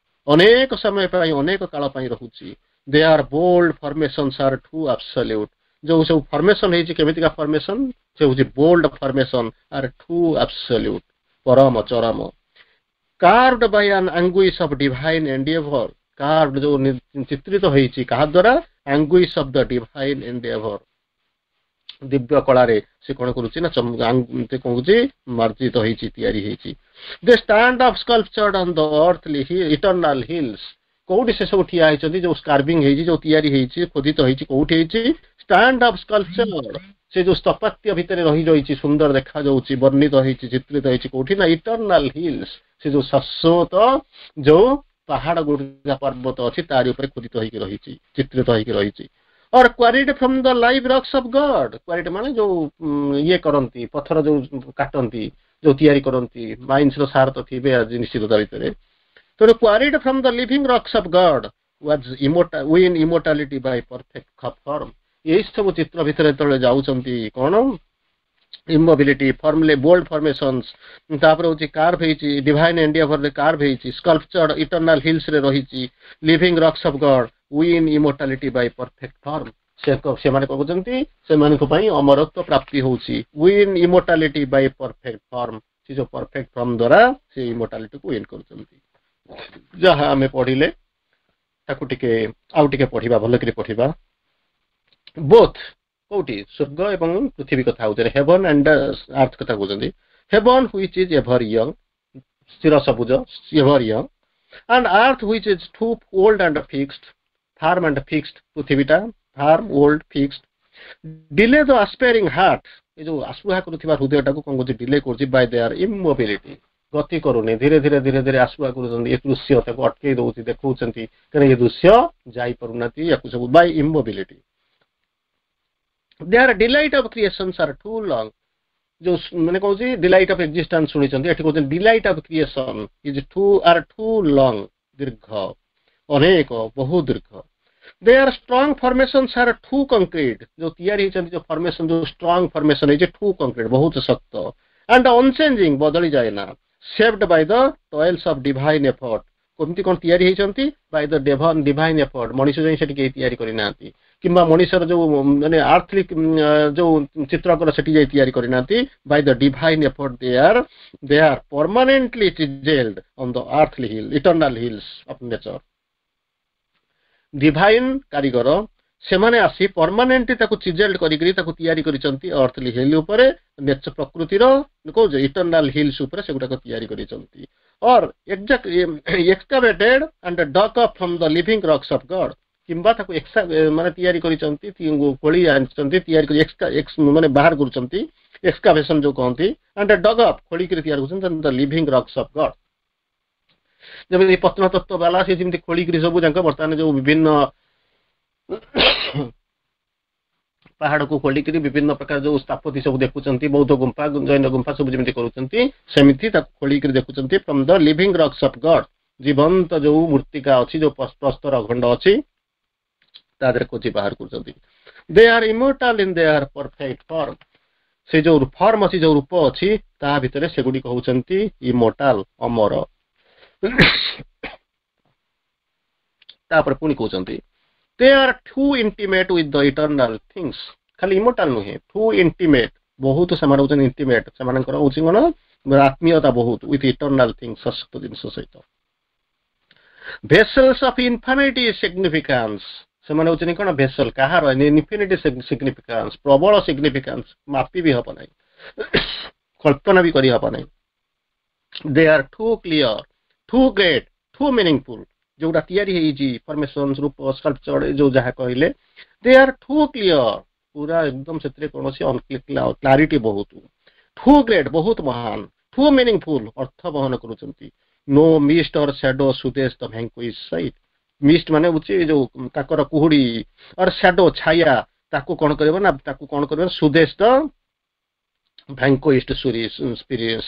ଅନେକ ସମୟ ପାଇଁ, ଅନେକ କାଳ ପାଇଁ ରହୁଛି। Their bold formations are too absolute, ଯୋଉ ସବୁ ଫର୍ମେସନ ହେଇଛି କେମିତିକା ଫର୍ମେସନ, ସେ ହଉଛି bold formation are too absolute, ପରମ ଚରମ, carved by an anguish of divine endeavour, carved ଯୋଉ ଚିତ୍ରିତ ହେଇଛି କାହା ଦ୍ୱାରା anguish of the divine endeavour। ଦିବ୍ୟ କଳାରେ ସେ କଣ କରୁଛି ନା କଣ କହୁଛି, ମାର୍ଜିତ ହେଇଛି, ତିଆରି ହେଇଛି। They stand up sculptured on the earthly eternal hills। କୋଉଠି ସେ ସବୁ ଠିଆ ହେଇଛନ୍ତି? ଯୋଉ କାର୍ଭିଂ ହେଇଛି, ଯୋଉ ତିଆରି ହେଇଛି, ଖୋଦିତ ହେଇଛି, କୋଉଠି ହେଇଛି? ଷ୍ଟାଣ୍ଡ ଅପ୍ ସ୍କଲ୍ପଚର୍ଡ, ସେ ଯୋଉ ସ୍ଥାପତ୍ୟ ଭିତରେ ରହି ରହିଛି, ସୁନ୍ଦର ଦେଖାଯାଉଛି, ବର୍ଣ୍ଣିତ ହେଇଛି, ଚିତ୍ରିତ ହେଇଛି, କୋଉଠି ନା ଇଟର୍ନାଲ ହିଲ୍ସ, ସେ ଯୋଉ ଶାଶ୍ୱତ ଯୋଉ ପାହାଡ ଗୁଡିକ, ପର୍ବତ ଅଛି, ତାରି ଉପରେ ଖୋଦିତ ହେଇକି ରହିଛି, ଚିତ୍ରିତ ହେଇକି ରହିଛି। Or quarried from the live rocks of God। କ୍ୱାରିଡ୍ ମାନେ ଯୋଉ ଇଏ କରନ୍ତି, ପଥର ଯୋଉ କାଟନ୍ତି, ଯୋଉ ତିଆରି କରନ୍ତି, ମାଇନ୍ସର ସାର ତ ଥିବେ ଆଜି ନିଶ୍ଚିତ ତା ଭିତରେ। ତେଣୁ quarried from the living rocks of God was win immortality by perfect form। ଏଇ ସବୁ ଚିତ୍ର ଭିତରେ ଯେତେବେଳେ ଯାଉଛନ୍ତି, କଣ ଇମୋବିଲିଟି, ଫର୍ମଲେ ବୋଲ୍ଡ ଫର୍ମେସନ୍ସ, ତାପରେ ହଉଛି କାର୍ଭ ହେଇଛି, ଡିଭାଇନ ଏଣ୍ଡିଆଭରରେ କାର୍ଭ ହେଇଛି, ସ୍କଲ୍ପଚର୍ଡ ଇଟର୍ନାଲ ହିଲ୍ସରେ ରହିଛି, living rocks of God win immortality by perfect form। ସେ ସେମାନେ କହୁଛନ୍ତି, ସେମାନଙ୍କ ପାଇଁ ଅମରତ୍ୱ ପ୍ରାପ୍ତି ହଉଛି। Win immortality by perfect form, ସେ ଯୋଉ ପରଫେକ୍ଟ ଫର୍ମ ଦ୍ୱାରା ସେ ଇମୋର୍ଟାଲିଟିକୁ ୱିନ୍ କରୁଛନ୍ତି। ଯାହା ଆମେ ପଢିଲେ, ତାକୁ ଟିକେ ଆଉ ଟିକେ ପଢିବା, ଭଲ କରି ପଢିବା। ବୋଥ କୋଉଠି ସ୍ୱର୍ଗ ଏବଂ ପୃଥିବୀ କଥା ହଉଛନ୍ତି, ହେଭନ ଆଣ୍ଡ ଆର୍ଥ କଥା କହୁଛନ୍ତି। Heaven which is ever young, ସ୍ଥିର ସବୁଜ, ever young, and earth which is too old and fixed, firm and fixed, ପୃଥିବୀଟା firm, old, fixed, delay the aspiring heart, ଏ ଯୋଉ ଆସ୍ପୃହା କରୁଥିବା ହୃଦୟଟାକୁ କଣ କରୁଛି? ଡିଲେ କରୁଛି। ବାଇ there ଇମୋବିଲିଟି, ଗତି କରୁନି, ଧୀରେ ଧୀରେ ଧୀରେ ଧୀରେ ଆସ୍ପୃହା କରୁଛନ୍ତି। ଏ ଦୃଶ୍ୟ ତାକୁ ଅଟକେଇ ଦଉଛି, ଦେଖଉଛନ୍ତି, କାରଣ ଏ ଦୃଶ୍ୟ ଯାଇପାରୁନାହାନ୍ତି ୟାକୁ ସବୁ। By immobility their delight of creations are too long। ଯୋଉ ମାନେ କହୁଛି ଡିଲାଇଟ୍ ଅଫ ଏକ୍ଜିଷ୍ଟାନ୍ସ ଶୁଣିଛନ୍ତି, ଏଠି କହୁଛନ୍ତି delight of creation is too are too long, ଦୀର୍ଘ, ଅନେକ, ବହୁ ଦୀର୍ଘ। Their strong formations are too concrete, ଯୋଉ ତିଆରି ହେଇଛନ୍ତି, ଯୋଉ ଫର୍ମେସନ, ଯୋଉ ଷ୍ଟ୍ରଙ୍ଗ ଫର୍ମେସନ ହେଇଛି, ଟୁ କଂକ୍ରିଟ, ବହୁତ ଶକ୍ତ, ଆଣ୍ଡ ଅନଚେଞ୍ଜିଂ, ବଦଳି ଯାଏ ନା, shaped by the toils of divine effort। କେମିତି କଣ ତିଆରି ହେଇଛନ୍ତି? ବାଇ ଦ ଡିଭାଇନ ଏଫର୍ଟ। ମଣିଷ ଯାଇ ସେଠି କେହି ତିଆରି କରିନାହାନ୍ତି, କିମ୍ବା ମଣିଷର ଯୋଉ ମାନେ ଆର୍ଥଲି ଯୋଉ ଚିତ୍ରକର ସେଠି ଯାଇ ତିଆରି କରିନାହାନ୍ତି। By the divine effort they are they are permanently chiselled on the earthly hill eternal hills of nature। Divine କାରିଗର ସେମାନେ ଆସି ପରମାନେଣ୍ଟଲି ତାକୁ ଚିଜେଲ୍ଡ କରିକିରି ତାକୁ ତିଆରି କରିଛନ୍ତି ଅର୍ଥଲି ହିଲ୍ ଉପରେ, ନେଚର, ପ୍ରକୃତିର କହୁଛ ଇଟର୍ନାଲ ହିଲ୍ସ ଉପରେ ସେଗୁଡାକ ତିଆରି କରିଛନ୍ତି। Or excavated and dug up from the living rocks of God, କିମ୍ବା ତାକୁ ମାନେ ତିଆରି କରିଛନ୍ତି, ଖୋଳି ଆଣିଛନ୍ତି, ତିଆରି କରି ମାନେ ବାହାର କରୁଛନ୍ତି, ଏକ୍ସକାଭେସନ ଯୋଉ କହନ୍ତି, ଆଣ୍ଡ ଡଗ୍ ଅପ୍, ଖୋଳିକିରି ତିଆରି କରୁଛନ୍ତି the living rocks of God। ଯେମିତି ପ୍ରତ୍ନତତ୍ତ୍ୱ ବାଲା ସେ ଯେମିତି ଖୋଳିକିରି ସବୁ ଯାକ ବର୍ତ୍ତମାନ ଯୋଉ ବିଭିନ୍ନ ପାହାଡକୁ ଖୋଲିକିରି ବିଭିନ୍ନ ପ୍ରକାର ଯୋଉ ସ୍ଥାପତି ସବୁ ଦେଖୁଛନ୍ତି, ବୌଦ୍ଧ ଗୁମ୍ଫା, ଜୈନ ଗୁମ୍ଫା ସବୁ ଯେମିତି କରୁଛନ୍ତି, ସେମିତି ତାକୁ ଖୋଳିକିରି ଦେଖୁଛନ୍ତି from the living rocks of God। ଜୀବନ୍ତ ଯୋଉ ମୂର୍ତ୍ତିକା ଅଛି, ଯୋଉ ପ୍ରସ୍ତର ଖଣ୍ଡ ଅଛି, ତା ଦେହରେ ଖୋଜି ବାହାର କରୁଛନ୍ତି। They are immortal in their perfect form। ସେ ଯୋଉ ଫର୍ମ ଅଛି, ଯୋଉ ରୂପ ଅଛି, ତା ଭିତରେ ସେଗୁଡିକ ହଉଛନ୍ତି ଇମୋର୍ଟାଲ, ଅମର। ତାପରେ ପୁଣି କହୁଛନ୍ତି, they are too intimate with the eternal things। ଖାଲି ଇମୋର୍ଟାଲ ନୁହେଁ, ଟୁ ଇଣ୍ଟିମେଟ୍, ବହୁତ ସେମାନେ ହଉଛନ୍ତି ଇଣ୍ଟିମେଟ୍, ସେମାନଙ୍କର ହଉଛି କଣ ଆତ୍ମୀୟତା ବହୁତ, ୱିଥ୍ ଇଟର୍ନାଲ ଥିଙ୍ଗସ୍, ଶାଶ୍ୱତ ଜିନିଷ ସହିତ। ଭେସଲ୍ସ ଅଫ ଇନଫିନିଟି ସିଗ୍ନିଫିକାନ୍ସ, ସେମାନେ ହଉଛନ୍ତି କଣ ଭେସଲ କାହାର? ଇନଫିନିଟି ସିଗ୍ନିଫିକାନ୍ସ, ପ୍ରବଳ ସିଗ୍ନିଫିକାନ୍ସ, ମାପି ବି ହବ ନାହିଁ, କଳ୍ପନା ବି କରିହବ ନାହିଁ। They are too clear, too great, too meaningful। ଯୋଉଟା ତିଆରି ହେଇଛି, ଫର୍ମେସନ, ରୂପ, ସ୍କଲ୍ପଚର, ଯୋଉ ଯାହା କହିଲେ, ଦେ ଆର୍ ଟୁ କ୍ଲିୟର, ପୁରା ଏକଦମ ସେଥିରେ କୌଣସି କ୍ଲାରିଟି ବହୁତ, ଟୁ ଗ୍ରେଟ୍, ବହୁତ ମହାନ, ଟୁ ମିନିଂଫୁଲ, ଅର୍ଥ ବହନ କରୁଛନ୍ତି। No mist or shadow soothes the vanquished sight। ମିଷ୍ଟ ମାନେ ହଉଛି ଯୋଉ କାକର, କୁହୁଡି, ଅର ସ୍ୟାଡୋ, ଛାୟା, ତାକୁ କଣ କରିବ ନା ତାକୁ କଣ କରିବ? ସୁଦେଶ ଦ ଭ୍ୟାଙ୍କୁଇସ୍ଡ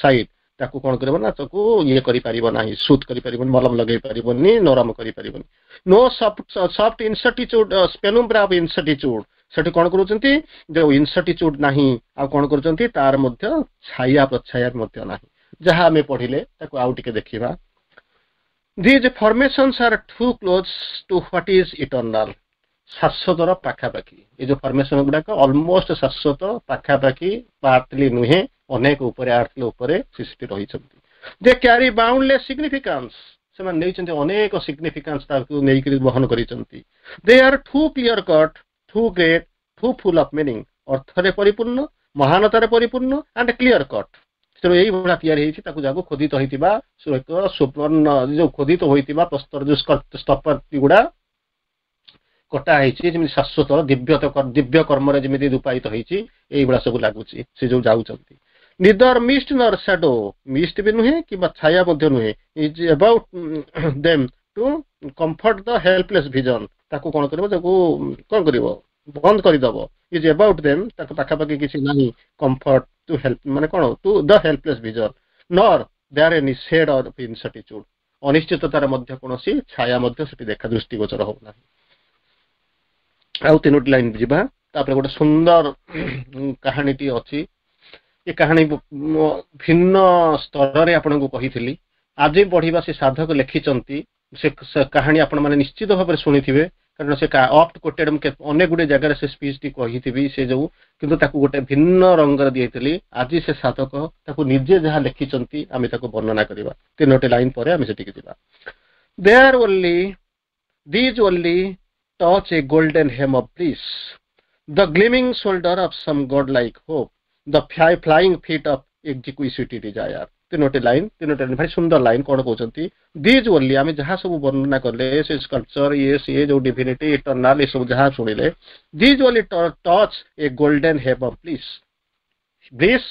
ସାଇଟ୍, ତାକୁ କଣ କରିବ ନା ତାକୁ ଇଏ କରିପାରିବ ନାହିଁ, ସୁଥ୍ କରିପାରିବନି, ମଲମ ଲଗେଇ ପାରିବନି, ନରମ କରିପାରିବନି। No soft soft incertitude, penumbra of incertitude, ସେଠି କଣ କରୁଛନ୍ତି? ଯୋଉ ଇନସର୍ଟିଚ୍ୟୁଡ ନାହିଁ, ଆଉ କଣ କରୁଛନ୍ତି? ତାର ମଧ୍ୟ ଛାୟା ପ୍ରଛାୟା ମଧ୍ୟ ନାହିଁ। ଯାହା ଆମେ ପଢିଲେ, ତାକୁ ଆଉ ଟିକେ ଦେଖିବା। These formations are too close to what is eternal। ଶାଶ୍ୱତର ପାଖାପାଖି ଏ ଯୋଉ ଫର୍ମେସନ ଗୁଡାକ ଅଲମୋଷ୍ଟ ଶାଶ୍ୱତ ପାଖାପାଖି, ଆର୍ଥଲି ନୁହେଁ, ଅନେକ ଉପରେ, ଆର୍ଥଲି ଉପରେ ସୃଷ୍ଟି ରହିଛନ୍ତି। They carry boundless significance। ସେମାନେ ନେଇଛନ୍ତି ଅନେକ ସିଗ୍ନିଫିକାନ୍ସ ତାକୁ ନେଇକରି ବହନ କରିଛନ୍ତି They are too clear cut too great too full of meaning ଅର୍ଥରେ ପରିପୂର୍ଣ୍ଣ ମହାନତାରେ ପରିପୂର୍ଣ୍ଣ ଆଣ୍ଡ କ୍ଲିୟର କଟ୍ ତେଣୁ ଏଇଭଳିଆ ତିଆରି ହେଇଛି ତାକୁ ଯାକୁ ଖୋଦିତ ହୋଇଥିବା ଏକ ସୁବର୍ଣ୍ଣ ଯୋଉ ଖୋଦିତ ହୋଇଥିବା ପ୍ରସ୍ତର ଯୋଉ ସ୍ଥପତି ଗୁଡା କଟା ହେଇଛି ଯେମିତି ଶାଶ୍ୱତ ଦିବ୍ୟ ଦିବ୍ୟ କର୍ମରେ ଯେମିତି ରୂପାୟିତ ହେଇଛି ଏଇଭଳିଆ ସବୁ ଲାଗୁଛି ସେ ଯୋଉ ଯାଉଛନ୍ତି Neither mist nor shadow ମିଷ୍ଟ ବି ନୁହେଁ କିମ୍ବା ଛାୟା ମଧ୍ୟ ନୁହେଁ is about them to comfort the helpless vision ତାକୁ କଣ କରିବ ତାକୁ କଣ କରିବ ବନ୍ଦ କରିଦବ is about them ତାଙ୍କ ପାଖାପାଖି କିଛି ନାହିଁ କମ୍ଫର୍ଟ ଟୁ ହେଲ୍ପ ମାନେ କଣ to the helpless vision nor there any shade of incertitude ଅନିଶ୍ଚିତତାର ମଧ୍ୟ କୌଣସି ଛାୟା ମଧ୍ୟ ସେଠି ଦେଖା ଦୃଷ୍ଟିଗୋଚର ହଉନାହିଁ ଆଉ ତିନୋଟି ଲାଇନ ଯିବା ତାପରେ ଗୋଟେ ସୁନ୍ଦର କାହାଣୀଟି ଅଛି ଏ କାହାଣୀ ଭିନ୍ନ ସ୍ତରରେ ଆପଣଙ୍କୁ କହିଥିଲି ଆଜି ପଢିବା ସେ ସାଧକ ଲେଖିଛନ୍ତି ସେ କାହାଣୀ ଆପଣମାନେ ନିଶ୍ଚିତ ଭାବରେ ଶୁଣିଥିବେ କାରଣ ସେ ଅଫ୍ଟ କୋଟେଡ୍ ମୁଁ ଅନେକ ଗୁଡ଼ିଏ ଜାଗାରେ ସେ ସ୍ପିଚଟି କହିଥିବି ସେ ଯୋଉ କିନ୍ତୁ ତାକୁ ଗୋଟେ ଭିନ୍ନ ରଙ୍ଗରେ ଦେଇଥିଲି ଆଜି ସେ ସାଧକ ତାକୁ ନିଜେ ଯାହା ଲେଖିଛନ୍ତି ଆମେ ତାକୁ ବର୍ଣ୍ଣନା କରିବା ତିନୋଟି ଲାଇନ ପରେ ଆମେ ସେଠିକି ଯିବା There only these only touch a golden hem of bliss, the gleaming shoulder of some godlike hope, the flying feet of exquisite desire. ତିନୋଟି ଲାଇନ ତିନୋଟି ଲାଇନ ଭାରି ସୁନ୍ଦର ଲାଇନ କଣ କହୁଛନ୍ତି these only ଆମେ ଯାହା ସବୁ ବର୍ଣ୍ଣନା କଲେ ସେ ସ୍କଲ୍ପଚର ଇଏ ସିଏ ଯୋଉ ଡିଭିନିଟି ଇଟର୍ନାଲ ଏସବୁ ଯାହା ଶୁଣିଲେ These only touch a golden hem of bliss bliss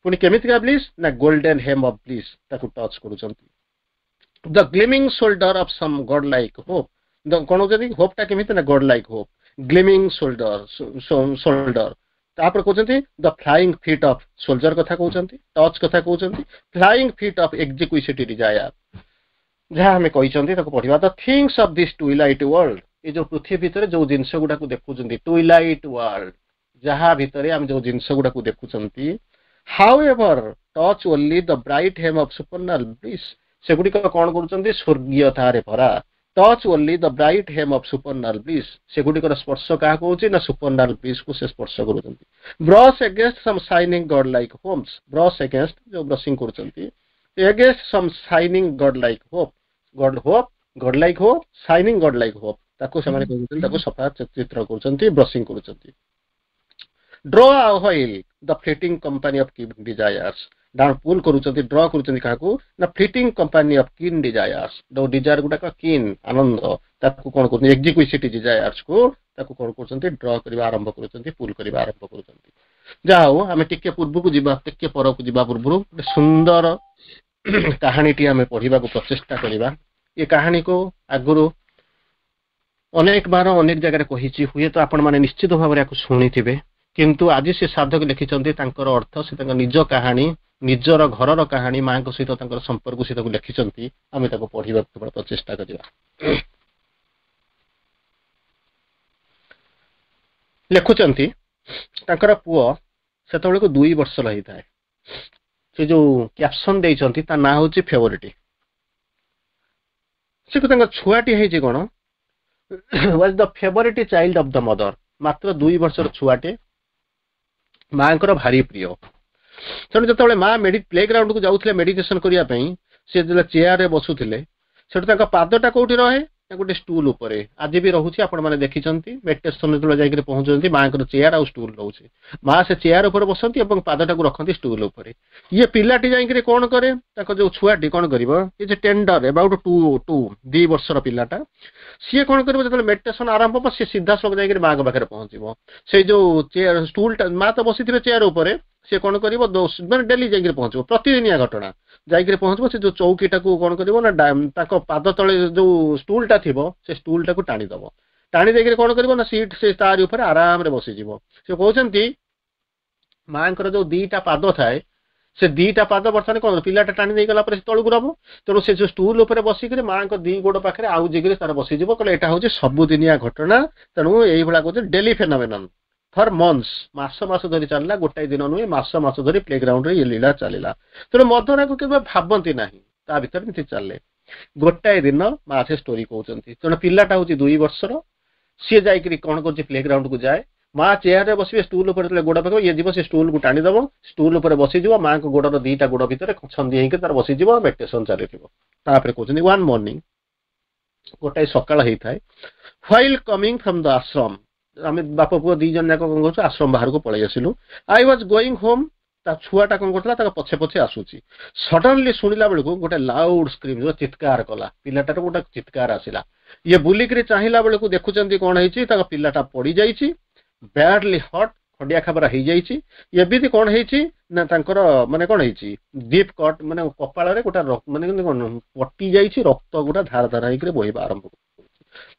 ପୁଣି କେମିତିକା ବ୍ଲିସ୍ ନା ଗୋଲ୍ଡେନ ହେମ୍ ଅଫ୍ ବ୍ଲିସ୍ ତାକୁ ଟଚ୍ କରୁଛନ୍ତି the gleaming shoulder of some god like hope କଣ କହୁଛନ୍ତି ହୋପ୍ ଟା କେମିତି ନା god like hope gleaming shoulder shoulder ତାପରେ କହୁଛନ୍ତି the flying feet of shoulder କଥା କହୁଛନ୍ତି ଟଚ୍ କଥା କହୁଛନ୍ତି flying feet of exquisite desire ଯାହା ଆମେ କହିଛନ୍ତି ତାକୁ ପଢିବା The things of this twilight world ଏ ଯୋଉ ପୃଥିବୀ ଭିତରେ ଯୋଉ ଜିନିଷ ଗୁଡାକୁ ଦେଖୁଛନ୍ତି ଟୁଇଲାଇଟ୍ ୱାର୍ଲଡ ଯାହା ଭିତରେ ଆମେ ଯୋଉ ଜିନିଷ ଗୁଡାକୁ ଦେଖୁଛନ୍ତି however touch only the bright hem of supernal bliss ସେଗୁଡିକ କଣ କରୁଛନ୍ତି ସ୍ୱର୍ଗୀୟତାରେ ଭରା touch only the bright hem of supernal bliss ସେଗୁଡିକର ସ୍ପର୍ଶ କାହାକୁ ହଉଛି ନା ସୁପରନାଲ ବ୍ଲିସ୍ କୁ ସେ ସ୍ପର୍ଶ କରୁଛନ୍ତି brush against some shining god like homes brush against ଯୋଉ ବ୍ରସିଂ କରୁଛନ୍ତି against some shining god like hope god hope god like hope shining god like hope ତାକୁ ସେମାନେ କରୁଛନ୍ତି ତାକୁ ସଫା ଚିତ୍ର କରୁଛନ୍ତି ବ୍ରସିଂ କରୁଛନ୍ତି draw awhile the fleeting company of desires down pull କରୁଛନ୍ତି ଡ୍ର କରୁଛନ୍ତି କାହାକୁ ନା fleeting company of keen desires ଯୋଉ ଡିଜାୟାର ଗୁଡାକ କିନ୍ ଆନନ୍ଦ ତାକୁ କଣ କରୁଛନ୍ତି ଏକ୍ସକ୍ୱିଜିଟ୍ ଡିଜାୟାର୍ସ କୁ ତାକୁ କଣ କରୁଛନ୍ତି ଡ୍ର କରିବା ଆରମ୍ଭ କରୁଛନ୍ତି ପୁଲ୍ କରିବା ଆରମ୍ଭ କରୁଛନ୍ତି ଯାହା ହଉ ଆମେ ଟିକେ ପୂର୍ବକୁ ଯିବା ଟିକେ ପରକୁ ଯିବା ପୂର୍ବରୁ ଗୋଟେ ସୁନ୍ଦର କାହାଣୀଟି ଆମେ ପଢିବାକୁ ପ୍ରଚେଷ୍ଟା କରିବା ଏ କାହାଣୀକୁ ଆଗରୁ ଅନେକ ବାର ଅନେକ ଜାଗାରେ କହିଛି ହୁଏତ ଆପଣମାନେ ନିଶ୍ଚିତ ଭାବରେ ୟାକୁ ଶୁଣିଥିବେ କିନ୍ତୁ ଆଜି ସେ ସାଧକ ଲେଖିଛନ୍ତି ତାଙ୍କର ଅର୍ଥ ସେ ତାଙ୍କ ନିଜ କାହାଣୀ ନିଜର ଘରର କାହାଣୀ ମାଙ୍କ ସହିତ ତାଙ୍କର ସମ୍ପର୍କ ସେ ତାକୁ ଲେଖିଛନ୍ତି ଆମେ ତାକୁ ପଢିବାକୁ କେବଳ ପ୍ରଚେଷ୍ଟା କରିବା ଲେଖୁଛନ୍ତି ତାଙ୍କର ପୁଅ ସେତେବେଳକୁ ଦୁଇ ବର୍ଷର ହେଇଥାଏ ସେ ଯୋଉ କ୍ୟାପସନ ଦେଇଛନ୍ତି ତା ନାଁ ହଉଛି ଫେଭରିଟି ସେ ତାଙ୍କ ଛୁଆଟି ହେଇଛି କଣ was the favourite child of the mother ମାତ୍ର ଦୁଇ ବର୍ଷର ଛୁଆଟେ ମାଙ୍କର ଭାରି ପ୍ରିୟ ତେଣୁ ଯେତେବେଳେ ମା ମେଡି ପ୍ଲେ ଗ୍ରାଉଣ୍ଡକୁ ଯାଉଥିଲେ ମେଡିଟେସନ କରିବା ପାଇଁ ସେ ଯେତେବେଳେ ଚେୟାରରେ ବସୁଥିଲେ ସେଠୁ ତାଙ୍କ ପାଦଟା କୋଉଠି ରହେ ନା ଗୋଟେ ଷ୍ଟୁଲ ଉପରେ ଆଜି ବି ରହୁଛି ଆପଣମାନେ ଦେଖିଛନ୍ତି ମେଡିଟେସନ ଯେତେବେଳେ ଯାଇକରି ପହଞ୍ଚୁଛନ୍ତି ମାଙ୍କର ଚେୟାର ଆଉ ଷ୍ଟୁଲ ରହୁଛି ମା ସେ ଚେୟାର ଉପରେ ବସନ୍ତି ଏବଂ ପାଦଟାକୁ ରଖନ୍ତି ଷ୍ଟୁଲ ଉପରେ ଇଏ ପିଲାଟି ଯାଇକରି କଣ କରେ ତାଙ୍କ ଯୋଉ ଛୁଆଟି କଣ କରିବ is tender about two two ଦି ବର୍ଷର ପିଲାଟା ସିଏ କଣ କରିବ ଯେତେବେଳେ ମେଡିଟେସନ ଆରମ୍ଭ ହବ ସିଏ ସିଧାସଳଖ ଯାଇକରି ମାଙ୍କ ପାଖରେ ପହଞ୍ଚିବ ସେଇ ଯୋଉ ଚେୟାର ଷ୍ଟୁଲଟା ମା ତ ବସିଥିବେ ଚେୟାର ଉପରେ ସିଏ କଣ କରିବ ମାନେ ଡେଲି ଯାଇକରି ପହଞ୍ଚିବ ପ୍ରତିଦିନିଆ ଘଟଣା ଯାଇକରି ପହଞ୍ଚିବ ସେ ଯୋଉ ଚୌକିଟାକୁ କଣ କରିବ ନା ତାଙ୍କ ପାଦ ତଳେ ଯୋଉ ଷ୍ଟୁଲଟା ଥିବ ସେ ଷ୍ଟୁଲଟାକୁ ଟାଣିଦବ ଟାଣି ଦେଇକରି କଣ କରିବ ନା ସିଟ୍ ସେ ତାରି ଉପରେ ଆରାମରେ ବସିଯିବ ସେ କହୁଛନ୍ତି ମାଙ୍କର ଯୋଉ ଦିଟା ପାଦ ଥାଏ ସେ ଦିଟା ପାଦ ବର୍ତ୍ତମାନ କଣ ପିଲାଟା ଟାଣି ଦେଇଗଲା ପରେ ସେ ତଳକୁ ରବ ତେଣୁ ସେ ଯୋଉ ଷ୍ଟୁଲ ଉପରେ ବସିକରି ମାଙ୍କ ଦି ଗୋଡ ପାଖରେ ଆଉ ଜିଗିରି ତାର ବସିଯିବ କହିଲେ ଏଇଟା ହଉଛି ସବୁଦିନିଆ ଘଟଣା ତେଣୁ ଏଇଭଳିଆ କହୁଛନ୍ତି ଡେଲି ଫେନୋମେନନ୍ ଫର ମନ୍ଥସ୍ ମାସ ମାସ ଧରି ଚାଲିଲା ଗୋଟାଏ ଦିନ ନୁହେଁ ମାସ ମାସ ଧରି ପ୍ଲେ ଗ୍ରାଉଣ୍ଡରେ ଇଏ ଲୀଳା ଚାଲିଲା ତେଣୁ ମଦନାକୁ କେବେ ଭାବନ୍ତି ନାହିଁ ତା ଭିତରେ ଏମିତି ଚାଲେ ଗୋଟାଏ ଦିନ ମା ସେ ଷ୍ଟୋରି କହୁଛନ୍ତି ତେଣୁ ପିଲାଟା ହଉଛି ଦୁଇ ବର୍ଷର ସିଏ ଯାଇକରି କଣ କରୁଛି ପ୍ଲେ ଗ୍ରାଉଣ୍ଡକୁ ଯାଏ ମା ଚେୟାରରେ ବସିବେ ଷ୍ଟୁଲ ଉପରେ ଯେତେବେଳେ ଗୋଡ଼ ପକେଇବ ଇଏ ଯିବ ସେ ଷ୍ଟୁଲକୁ ଟାଣିଦବ ଷ୍ଟୁଲ ଉପରେ ବସିଯିବ ମାଙ୍କ ଗୋଡର ଦିଟା ଗୋଡ ଭିତରେ ଛନ୍ଦି ହେଇକି ତାର ବସିଯିବ ମେଡିଟେସନ ଚାଲିଥିବ ତାପରେ କହୁଛନ୍ତି ୱାନ୍ ମର୍ଣ୍ଣିଂ ଗୋଟାଏ ସକାଳ ହେଇଥାଏ while coming from the ashram ଆମେ ବାପ ପୁଅ ଦି ଜଣ ଯାକ କଣ କରୁଛୁ ଆଶ୍ରମ ବାହାରକୁ ପଳେଇ ଆସିଲୁ I was going home ତା ଛୁଆଟା କଣ କରୁଥିଲା ତାଙ୍କ ପଛେ ପଛେ ଆସୁଛି ସଡନଲି ଶୁଣିଲା ବେଳକୁ ଗୋଟେ ଲାଉଡ ସ୍କ୍ରିମ୍ ଚିତ୍କାର କଲା ପିଲାଟାର ଗୋଟେ ଚିତ୍କାର ଆସିଲା ଇଏ ବୁଲିକିରି ଚାହିଁଲା ବେଳକୁ ଦେଖୁଛନ୍ତି କଣ ହେଇଛି ତାଙ୍କ ପିଲାଟା ପଡିଯାଇଛି ବ୍ୟାଡଲି ହର୍ଟ ଖଣ୍ଡିଆ ଖାବରା ହେଇଯାଇଛି ଏମିତି କଣ ହେଇଛି ନା ତାଙ୍କର ମାନେ କଣ ହେଇଛି ଡିପ୍ କଟ୍ ମାନେ କପାଳରେ ଗୋଟେ ମାନେ କଣ କଟି ଯାଇଛି ରକ୍ତ ଗୁଡା ଧାର ଧାର ହେଇକିରି ବୋହିବା ଆରମ୍ଭ କରୁଛି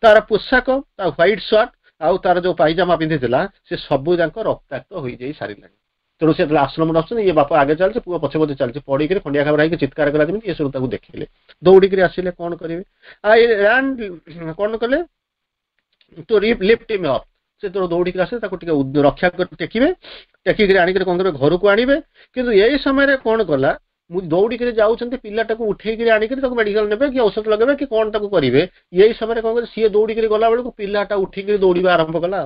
ତାର ପୋଷାକ ତା ହ୍ୱାଇଟ୍ ସାର୍ଟ ଆଉ ତାର ଯୋଉ ପାଇଜାମା ପିନ୍ଧିଥିଲା ସେ ସବୁ ଯାକ ରକ୍ତାକ୍ତ ହୋଇଯାଇ ସାରିଲାଣି ତେଣୁ ସେ ଯେତେବେଳେ ଆଶ୍ରମରେ ଆସୁଛନ୍ତି ଇଏ ବାପା ଆଗେ ଚାଲିଛି ପୁଅ ପଛେ ପଛେ ଚାଲିଛି ପଡିକିରି ଖଣ୍ଡିଆ ଖାବରା ହେଇକି ଚିତ୍କାର କଲା ଯେମିତି ଇଏ ସବୁ ତାକୁ ଦେଖିଲେ ଦୌଡ଼ିକିରି ଆସିଲେ କଣ କରିବେ I ran କଣ କଲେ to lift him up ସେ ଯେତେବେଳେ ଦୌଡ଼ିକିରି ଆସିଲେ ତାକୁ ଟିକେ ରକ୍ଷା କରି ଟେକିବେ ଟେକିକିରି ଆଣିକିରି କଣ କରିବେ ଘରକୁ ଆଣିବେ କିନ୍ତୁ ଏଇ ସମୟରେ କଣ କଲା ମୁଁ ଦୌଡ଼ିକିରି ଯାଉଛନ୍ତି ପିଲାଟାକୁ ଉଠେଇକିରି ଆଣିକିରି ତାକୁ ମେଡିକାଲ ନେବେ କି ଔଷଧ ଲଗେଇବେ କି କଣ ତାକୁ କରିବେ ଏଇ ସମୟରେ କଣ କରିବେ ସିଏ ଦୌଡ଼ିକିରି ଗଲା ବେଳକୁ ପିଲାଟା ଉଠିକିରି ଦୌଡ଼ିବା ଆରମ୍ଭ କଲା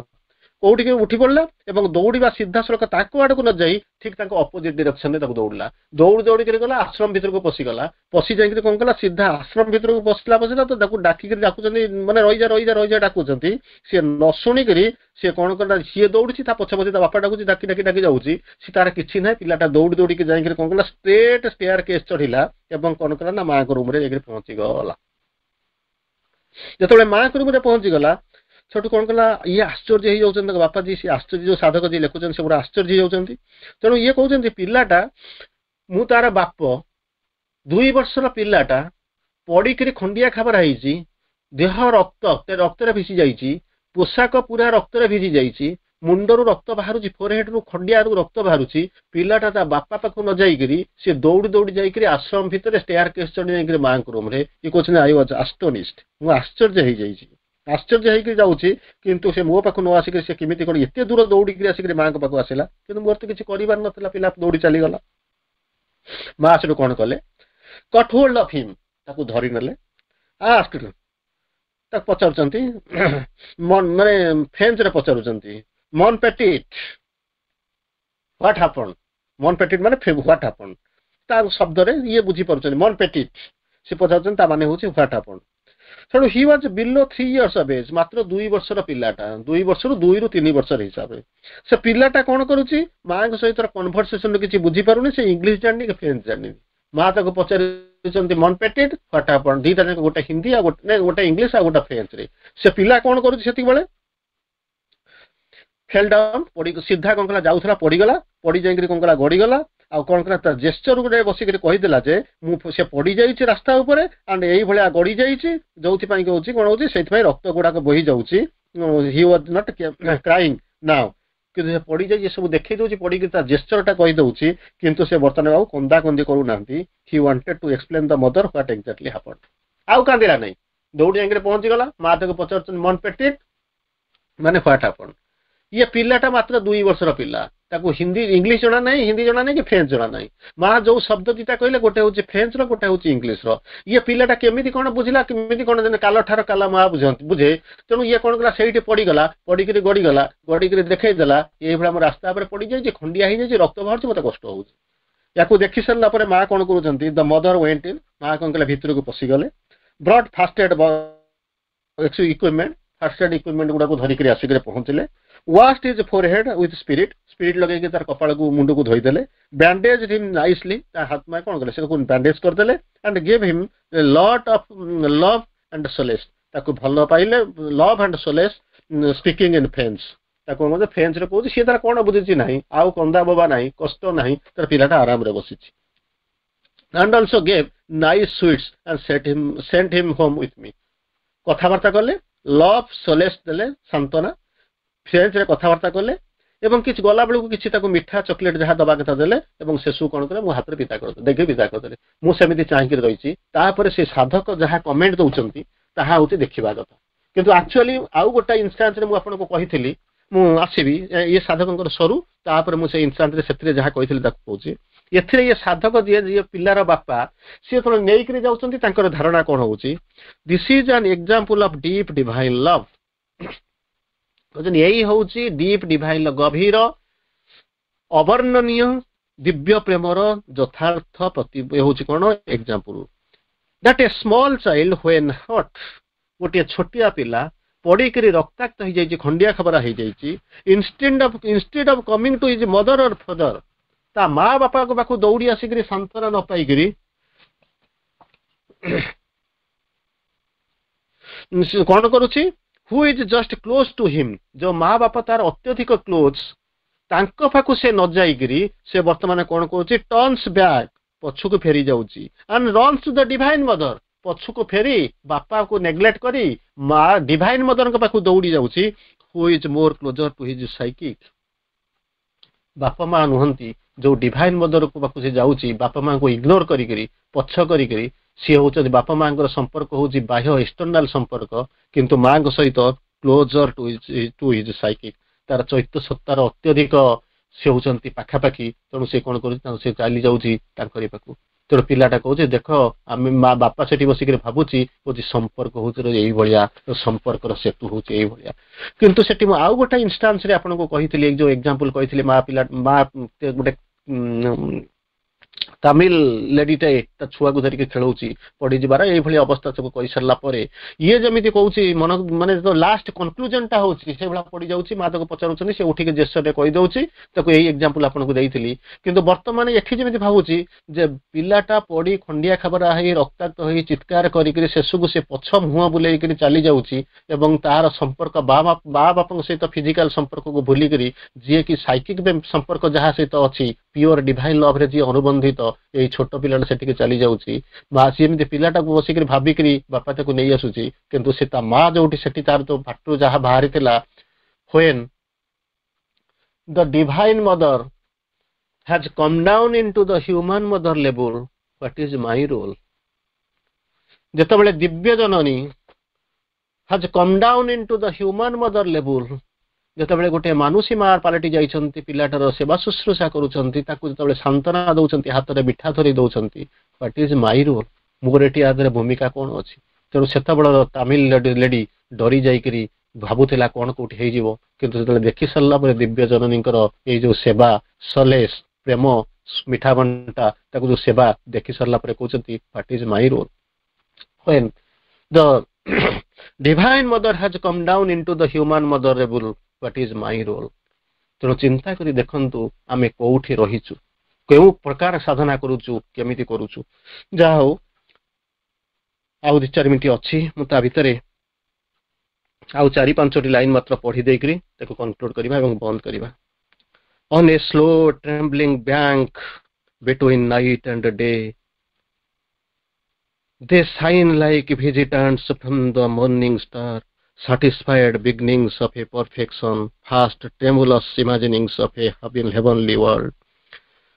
କୋଉଠିକି ଉଠି ପଡିଲା ଏବଂ ଦୌଡ଼ିବା ସିଧାସଳଖ ତାଙ୍କ ଆଡକୁ ନ ଯାଇ ଠିକ ତାଙ୍କ ଅପୋଜିଟ ଡିରେକ୍ସନରେ ତାକୁ ଦୌଡ଼ିଲା ଦୌଡ଼ି ଦୌଡ଼ିକିରି ଗଲା ଆଶ୍ରମ ଭିତରକୁ ପଶିଗଲା ପଶି ଯାଇକିରି କଣ କଲା ସିଧା ଆଶ୍ରମ ଭିତରକୁ ପଶିଲା ପଶିଲା ତ ତାକୁ ଡାକିକିରି ଡାକୁଛନ୍ତି ମାନେ ରହିଯା ରହିଯା ରହିଯା ଡାକୁଛନ୍ତି ସିଏ ନ ଶୁଣିକିରି ସିଏ କଣ କଲା ସିଏ ଦୌଡୁଛି ତା ପଛେ ପଛେ ତା ବାପା ଡାକୁଛି ଡାକି ଡାକି ଡାକି ଯାଉଛି ସେ ତାର କିଛି ନାହିଁ ପିଲାଟା ଦୌଡ଼ି ଦୌଡ଼ିକି ଯାଇକିରି କଣ କଲା ଷ୍ଟ୍ରେଟ୍ ଷ୍ଟେୟାର କେସ୍ ଚଢିଲା ଏବଂ କଣ କଲା ନା ମାଙ୍କ ରୁମରେ ଯାଇକିରି ପହଞ୍ଚିଗଲା ଯେତେବେଳେ ମାଙ୍କ ରୁମରେ ପହଞ୍ଚିଗଲା ସେଠୁ କଣ କଲା ଇଏ ଆଶ୍ଚର୍ଯ୍ୟ ହେଇଯାଉଛନ୍ତି ତାଙ୍କ ବାପା ଯିଏ ସେ ଆଶ୍ଚର୍ଯ୍ୟ ଯୋଉ ସାଧକ ଯିଏ ଲେଖୁଛନ୍ତି ସେ ପୁରା ଆଶ୍ଚର୍ଯ୍ୟ ହେଇଯାଉଛନ୍ତି ତେଣୁ ଇଏ କହୁଛନ୍ତି ପିଲାଟା ମୁଁ ତାର ବାପ ଦୁଇ ବର୍ଷର ପିଲାଟା ପଡିକିରି ଖଣ୍ଡିଆ ଖାବରା ହେଇଛି ଦେହ ରକ୍ତ ରକ୍ତରେ ଭିଜି ଯାଇଛି ପୋଷାକ ପୁରା ରକ୍ତରେ ଭିଜି ଯାଇଛି ମୁଣ୍ଡରୁ ରକ୍ତ ବାହାରୁଛି ଫୋରହେଡରୁ ଖଣ୍ଡିଆରୁ ରକ୍ତ ବାହାରୁଛି ପିଲାଟା ତା ବାପା ପାଖକୁ ନ ଯାଇକିରି ସେ ଦୌଡ଼ି ଦୌଡ଼ି ଯାଇକିରି ଆଶ୍ରମ ଭିତରେ ଷ୍ଟେୟାର କେସ୍ ଚଢି ଯାଇକିରି ମାଙ୍କ ରୁମରେ ଇଏ କହୁଛନ୍ତି I was astonished ମୁଁ ଆଶ୍ଚର୍ଯ୍ୟ ହେଇଯାଇଛି ଆଶ୍ଚର୍ଯ୍ୟ ହେଇକି ଯାଉଛି କିନ୍ତୁ ସେ ମୋ ପାଖକୁ ନ ଆସିକି ସେ କେମିତି କଣ ଏତେ ଦୂର ଦୌଡ଼ିକିରି ଆସିକିରି ମାଙ୍କ ପାଖକୁ ଆସିଲା କିନ୍ତୁ ମୋର ତ କିଛି କରିବାର ନଥିଲା ପିଲା ଦୌଡ଼ି ଚାଲିଗଲା ମା ସେଠୁ କଣ କଲେ କଟ୍ ହୋଲ୍ଡ ଅଫ୍ ହିମ୍ ତାକୁ ଧରି ନେଲେ ଆସ୍କ ତାକୁ ପଚାରୁଛନ୍ତି ମାନେ ଫ୍ରେଞ୍ଚରେ ପଚାରୁଛନ୍ତି mon petit what happened mon petit ମାନେ what happened ତା ଶବ୍ଦରେ ଇଏ ବୁଝିପାରୁଛନ୍ତି ମନ୍ ପେଟିଟ୍ ସେ ପଚାରୁଛନ୍ତି ତା ମାନେ ହଉଛି what happened ତେଣୁ he was below three years of age ମାତ୍ର ଦୁଇ ବର୍ଷର ପିଲାଟା ଦୁଇ ବର୍ଷରୁ ଦୁଇରୁ ତିନି ବର୍ଷର ହିସାବରେ ସେ ପିଲାଟା କଣ କରୁଛି ମାଙ୍କ ସହିତ କନଭରସେସନ କିଛି ବୁଝିପାରୁନି ସେ ଇଂଲିଶ ଜାଣିନି କି ଫ୍ରେଞ୍ଚ ଜାଣିନି ମା ତାକୁ ପଚାରୁଛନ୍ତି mon petit what happened ଦିଟା ଯାକ ଗୋଟେ ହିନ୍ଦୀ ଆଉ ଗୋଟେ ଗୋଟେ ଇଂଲିଶ ଆଉ ଗୋଟେ ଫ୍ରେଞ୍ଚରେ ସେ ପିଲା କଣ କରୁଛି ସେତିକିବେଳେ ଫେଲ୍ ଡାଉନ୍ ପଡି ସିଧା କଣ କଲା ଯାଉଥିଲା ପଡିଗଲା ପଡି ଯାଇକିରି କଣ କଲା ଗଡିଗଲା ଆଉ କଣ କଲା ତା ଜେସ୍ଚର ଗୋଟେ ବସିକିରି କହିଦେଲା ଯେ ମୁଁ ସେ ପଡି ଯାଇଛି ରାସ୍ତା ଉପରେ ଆଣ୍ଡ ଏଇଭଳିଆ ଗଡି ଯାଇଛି ଯୋଉଥିପାଇଁ କି ହଉଛି କଣ ହଉଛି ସେଇଥିପାଇଁ ରକ୍ତ ଗୁଡାକ ବୋହି ଯାଉଛି he was not crying now କିନ୍ତୁ ସେ ପଡିଯାଇଛି ଏସବୁ ଦେଖେଇ ଦଉଛି ପଡିକି ତା ଜେସ୍ଚରଟା କହିଦଉଛି କିନ୍ତୁ ସେ ବର୍ତ୍ତମାନ ଆଉ କନ୍ଦା କନ୍ଦି କରୁନାହାନ୍ତି he wanted to explain the mother what exactly happened ଆଉ କାନ୍ଦିଲା ନାହିଁ ଦୌଡ଼ି ଯାଇକିରି ପହଞ୍ଚିଗଲା ମା ତାକୁ ପଚାରୁଛନ୍ତି mon petit ମାନେ what happened ଇଏ ପିଲାଟା ମାତ୍ର ଦୁଇ ବର୍ଷର ପିଲା ତାକୁ ହିନ୍ଦୀ ଇଂଲିଶ ଜଣା ନାହିଁ ହିନ୍ଦୀ ଜଣା ନାହିଁ କି ଫ୍ରେଞ୍ଚ ଜଣା ନାହିଁ ମା ଯୋଉ ଶବ୍ଦ ଦିଟା କହିଲେ ଗୋଟେ ହଉଛି ଫ୍ରେଞ୍ଚର ଗୋଟେ ହଉଛି ଇଂଲିଶର ଇଏ ପିଲାଟା କେମିତି କଣ ବୁଝିଲା କେମିତି କଣ କାଲ ଠାର କାଲା ମା ବୁଝନ୍ତି ବୁଝେ ତେଣୁ ଇଏ କଣ କଲା ସେଇଠି ପଡିଗଲା ପଡିକିରି ଗଡିଗଲା ଗଡିକିରି ଦେଖେଇ ଦେଲା ଏଇଭଳିଆ ମୋ ରାସ୍ତା ଉପରେ ପଡିଯାଇଛି ଖଣ୍ଡିଆ ହେଇଯାଇଛି ରକ୍ତ ବାହାରୁଛି ମତେ କଷ୍ଟ ହଉଛି ୟାକୁ ଦେଖି ସାରିଲା ପରେ ମା କଣ କରୁଛନ୍ତି the mother went in ମା କଣ କଲେ ଭିତରକୁ ପଶିଗଲେ brought first aid equipment first aid equipment ଗୁଡାକୁ ଧରିକିରି ଆସିକିରି ପହଞ୍ଚିଲେ washed his forehead with spirit spirit ଲଗେଇକି ତାର କପାଳକୁ ମୁଣ୍ଡକୁ ଧୋଇଦେଲେ bandaged him nicely ତା ହାତ ମା କଣ କଲେ ସେଟାକୁ ବ୍ୟାଣ୍ଡେଜ କରିଦେଲେ and gave him lot of love and solace ତାକୁ ଭଲ ପାଇଲେ love and solace speaking in French ତାକୁ ମଧ୍ୟ ଫ୍ରେଞ୍ଚରେ କହୁଛି ସିଏ ତାର କଣ ବୁଝିଛି ନାହିଁ ଆଉ କନ୍ଦା ବୋବା ନାହିଁ କଷ୍ଟ ନାହିଁ ତାର ପିଲାଟା ଆରାମରେ ବସିଛି and also gave nice sweets and set him sent him home with me କଥାବାର୍ତ୍ତା କଲେ ଲଭ୍ ସୋଲେସ୍ ଦେଲେ ସାନ୍ତ୍ୱନା ଫ୍ରେଞ୍ଚରେ କଥାବାର୍ତ୍ତା କଲେ ଏବଂ କିଛି ଗଲା ବେଳକୁ କିଛି ତାକୁ ମିଠା ଚକୋଲେଟ ଯାହା ଦବା କଥା ଦେଲେ ଏବଂ ଶେଷକୁ କଣ କଲେ ମୋ ହାତରେ ବିଦା କରିଦେଲେ ଦେଖି ବିଦା କରିଦେଲେ ମୁଁ ସେମିତି ଚାହିଁକି ରହିଛି ତାପରେ ସେ ସାଧକ ଯାହା କମେଣ୍ଟ ଦଉଛନ୍ତି ତାହା ହଉଛି ଦେଖିବା କଥା କିନ୍ତୁ ଆକ୍ଚୁଆଲି ଆଉ ଗୋଟେ ଇନଷ୍ଟାନ୍ସରେ ମୁଁ ଆପଣଙ୍କୁ କହିଥିଲି ମୁଁ ଆସିବି ଇଏ ସାଧକଙ୍କର ସରୁ ତାପରେ ମୁଁ ସେଇ ଇନଷ୍ଟାନ୍ସରେ ସେଥିରେ ଯାହା କହିଥିଲି ତାକୁ କହୁଛି ଏଥିରେ ଇଏ ସାଧକ ଯିଏ ଯିଏ ପିଲାର ବାପା ସିଏ ଯେତେବେଳେ ନେଇକରି ଯାଉଛନ୍ତି ତାଙ୍କର ଧାରଣା କଣ ହଉଛି this is an example of deep divine love କହୁଛନ୍ତି ଏଇ ହଉଛି ଡିପ୍ ଡିଭାଇନ ଗଭୀର ଅବର୍ଣ୍ଣନୀୟ ଦିବ୍ୟ ପ୍ରେମର ଯଥାର୍ଥ ପ୍ରତି ହେଉଛି କଣ example that a small child when hurt ଗୋଟିଏ ଛୋଟିଆ ପିଲା ପଡିକିରି ରକ୍ତାକ୍ତ ହେଇଯାଇଛି ଖଣ୍ଡିଆ ଖବରା ହେଇଯାଇଛି instead of instead of coming to his mother or father ତା ମା ବାପାଙ୍କ ପାଖକୁ ଦୌଡ଼ି ଆସିକିରି ସାନ୍ତ୍ୱନା ନ ପାଇକିରି କଣ କରୁଛି who is just close to him ଯୋଉ ମା ବାପା ତାର ଅତ୍ୟଧିକ କ୍ଲୋଜ ତାଙ୍କ ପାଖକୁ ସେ ନ ଯାଇକିରି ସେ ବର୍ତ୍ତମାନ କଣ କରୁଛି ଟର୍ନସ ବ୍ୟାକ୍ ପଛକୁ ଫେରି ଯାଉଛି and runs to the Divine Mother ପଛକୁ ଫେରି ବାପାକୁ ନେଗ୍ଲେକ୍ଟ କରି ମା ଡିଭାଇନ ମଦରଙ୍କ ପାଖକୁ ଦୌଡ଼ି ଯାଉଛି who is more closer to his psychic ବାପା ମା ନୁହନ୍ତି ଯୋଉ ଡିଭାଇନ ମଦରକୁ ପାଖକୁ ସେ ଯାଉଛି ବାପା ମାଙ୍କୁ ଇଗ୍ନୋର କରିକିରି ପଛ କରିକିରି ସିଏ ହଉଛନ୍ତି ବାପା ମାଙ୍କର ସମ୍ପର୍କ ହଉଛି ବାହ୍ୟ ଏକ୍ସଟର୍ନାଲ ସମ୍ପର୍କ କିନ୍ତୁ ମାଙ୍କ ସହିତ closer to to his psychic ତାର ଚୈତ୍ୟ ସତ୍ତାର ଅତ୍ୟଧିକ ସେ ହଉଛନ୍ତି ପାଖାପାଖି ତେଣୁ ସେ କଣ କରୁଛି ତାଙ୍କୁ ସେ ଚାଲି ଯାଉଛି ତାଙ୍କରି ପାଖକୁ ତେଣୁ ପିଲାଟା କହୁଛି ଦେଖ ଆମେ ମା ବାପା ସେଠି ବସିକିରି ଭାବୁଛି କହୁଛି ସମ୍ପର୍କ ହଉଛି ଏଇଭଳିଆ ସମ୍ପର୍କର ସେତୁ ହଉଛି ଏଇଭଳିଆ କିନ୍ତୁ ସେଠି ମୁଁ ଆଉ ଗୋଟେ ଇନଷ୍ଟାନ୍ସରେ ଆପଣଙ୍କୁ କହିଥିଲି ଯୋଉ ଏକ୍ଜାମ୍ପଲ କହିଥିଲି ମା ପିଲା ମା ଗୋଟେ ତାମିଲ ଲେଡିଟେ ତା ଛୁଆକୁ ଧରିକି ଖେଳଉଛି ପଡିଯିବାର ଏଇଭଳି ଅବସ୍ଥା ସବୁ କହିସାରିଲା ପରେ ଇଏ ଯେମିତି କହୁଛି ମନ ମାନେ ଲାଷ୍ଟ କନକ୍ଲୁଜନଟା ହଉଛି ସେଇଭଳିଆ ପଡିଯାଉଛି ମା ତାକୁ ପଚାରୁଛନ୍ତି ସେ ଉଠିକି ଜେସରେ କହିଦଉଛି ତାକୁ ଏଇ ଏକ୍ଜାମ୍ପଲ ଆପଣଙ୍କୁ ଦେଇଥିଲି କିନ୍ତୁ ବର୍ତ୍ତମାନ ଏଠି ଯେମିତି ଭାବୁଛି ଯେ ପିଲାଟା ପଡି ଖଣ୍ଡିଆ ଖାବରା ହେଇ ରକ୍ତାକ୍ତ ହେଇ ଚିତ୍କାର କରିକିରି ଶେଷକୁ ସେ ପଛ ମୁହଁ ବୁଲେଇକିରି ଚାଲି ଯାଉଛି ଏବଂ ତାର ସମ୍ପର୍କ ବା ବାପାଙ୍କ ସହିତ ଫିଜିକାଲ ସମ୍ପର୍କକୁ ଭୁଲିକିରି ଯିଏକି ସାଇକିକ ସମ୍ପର୍କ ଯାହା ସହିତ ଅଛି ପିଓର ଡିଭାଇନ ଲଭରେ ଯିଏ ଅନୁବନ୍ଧିତ ଏଇ ଛୋଟ ପିଲାଟା ସେଠିକି ଚାଲି ଯାଉଛି ମା ସିଏ ଏମିତି ପିଲାଟାକୁ ବସିକିରି ଭାବିକିରି ବାପା ତାକୁ ନେଇ ଆସୁଛି କିନ୍ତୁ ସେ ତା ମା ଯୋଉଠି ସେଠି ତାର ଯୋଉ ପାଟିରୁ ଯାହା ବାହାରିଥିଲା when the Divine Mother has come down into the human mother level what is my role ଯେତେବେଳେ ଦିବ୍ୟ ଜନନୀ has come down into the human mother level ଯେତେବେଳେ ଗୋଟେ ମାନୁଷୀ ମା ପାଲଟି ଯାଇଛନ୍ତି ପିଲାଟାର ସେବା ଶୁଶ୍ରୂଷା କରୁଛନ୍ତି ତାକୁ ଯେତେବେଳେ ସାନ୍ତ୍ୱନା ଦଉଛନ୍ତି ହାତରେ ମିଠା ଧରି ଦଉଛନ୍ତି what is my role ମୋର ଏଠି ଆ ଦେହରେ ଭୂମିକା କଣ ଅଛି ତେଣୁ ସେତେବେଳର ତାମିଲ ଲେଡି ଡରି ଯାଇକିରି ଭାବୁଥିଲା କଣ କୋଉଠି ହେଇଯିବ କିନ୍ତୁ ଯେତେବେଳେ ଦେଖି ସାରିଲା ପରେ ଦିବ୍ୟ ଜନନୀଙ୍କର ଏଇ ଯୋଉ ସେବା ସଲେସ ପ୍ରେମ ମିଠା ବଣ୍ଟା ତାକୁ ଯୋଉ ସେବା ଦେଖି ସାରିଲା ପରେ କହୁଛନ୍ତି what is my role when the divine mother has come down into the human mother level what is my role ତେଣୁ ଚିନ୍ତା କରି ଦେଖନ୍ତୁ ଆମେ କୋଉଠି ରହିଛୁ କେଉଁ ପ୍ରକାର ସାଧନା କରୁଛୁ କେମିତି କରୁଛୁ ଯାହା ହଉ ଆଉ ଦି ଚାରି ମିନିଟ୍ ଅଛି ମୁଁ ତା ଭିତରେ ଆଉ ଚାରି ପାଞ୍ଚଟି ଲାଇନ ମାତ୍ର ପଢି ଦେଇକରି ତାକୁ କନକ୍ଲୁଡ କରିବା ଏବଂ ବନ୍ଦ କରିବା on a slow trembling bank between night and day they shine like visitants from the morning star satisfied beginnings of a perfection first tremulous imaginings of a heavenly world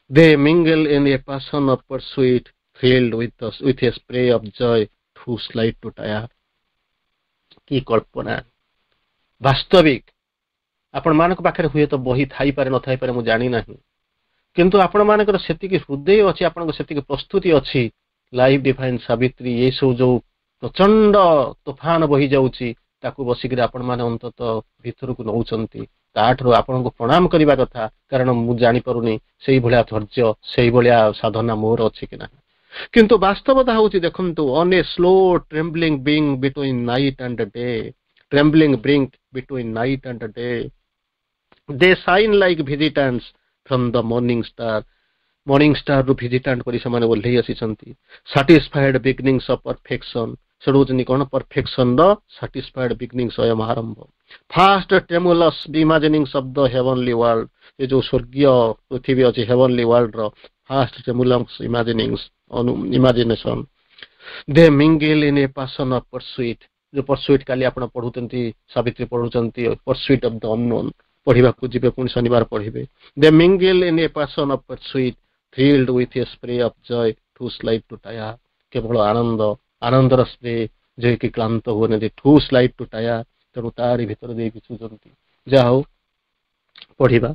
they mingle in a passion of pursuit thrilled with, the, with a spray of joy too slight to tire କି କଳ୍ପନା ବାସ୍ତବିକ ଆପଣମାନଙ୍କ ପାଖରେ ହୁଏତ ବହି ଥାଇପାରେ ନଥାଇପାରେ ମୁଁ ଜାଣିନାହିଁ କିନ୍ତୁ ଆପଣମାନଙ୍କର ସେତିକି ହୃଦୟ ଅଛି ଆପଣଙ୍କ ସେତିକି ପ୍ରସ୍ତୁତି ଅଛି ଲାଇଫ୍ ଡିଭାଇନ୍ ସାବିତ୍ରୀ ଏସବୁ ଯୋଉ ପ୍ରଚଣ୍ଡ ତୋଫାନ ବହି ଯାଉଛି ତାକୁ ବସିକିରି ଆପଣମାନେ ଅନ୍ତତଃ ଭିତରକୁ ନଉଛନ୍ତି ତାଠାରୁ ଆପଣଙ୍କୁ ପ୍ରଣାମ କରିବା କଥା କାରଣ ମୁଁ ଜାଣିପାରୁନି ସେଇଭଳିଆ ଧୈର୍ଯ୍ୟ ସେଇଭଳିଆ ସାଧନା ମୋର ଅଛି କି ନାହିଁ କିନ୍ତୁ ବାସ୍ତବତା ହଉଛି ଦେଖନ୍ତୁ on a slow trembling brink between night and day trembling brink between night and day they shine like visitants from the morning star morning star ରୁ ଭିଜିଟାଣ୍ଟ ପରି ସେମାନେ ଓହ୍ଲେଇ ଆସିଛନ୍ତି ସାଟିସ୍ଫାଏଡ ବିଗିନିଂସ ଅଫ ପରଫେକ୍ସନ ସେଠୁ ହଉଛନ୍ତି କଣ ପରଫେକ୍ସନ ର ସାଟିସ୍ଫାଏଡ ବିଗିନିଂ ସ୍ୱୟଂ ଆରମ୍ଭ first tremulous imaginings of the heavenly world ଏ ଯୋଉ ସ୍ୱର୍ଗୀୟ ପୃଥିବୀ ଅଛି ହେଭନଲି ୱାର୍ଲଡ ର first tremulous imaginings imagination they mingle in a passion of pursuit ଯୋଉ ପରସୁଇଟ୍ କାଲି ଆପଣ ପଢୁଛନ୍ତି ସାବିତ୍ରୀ ପଢୁଛନ୍ତି ପରସୁଇଟ୍ ଅଫ the unknown ପଢିବାକୁ ଯିବେ ପୁଣି ଶନିବାର ପଢିବେ they mingle in a passion of pursuit thrilled with a spray of joy too slight to tire କେବଳ ଆନନ୍ଦ ଆନନ୍ଦର ସ୍ପ୍ରେ ଯିଏକି କ୍ଳାନ୍ତ ହୁଅନ୍ତି ଠୁ ସ୍ଲାଇଟ୍ ଟୁ ଟାୟାର ତେଣୁ ତାରି ଭିତରେ ଦେଇକି ଛୁଛନ୍ତି ଯାହା ହଉ ପଢିବା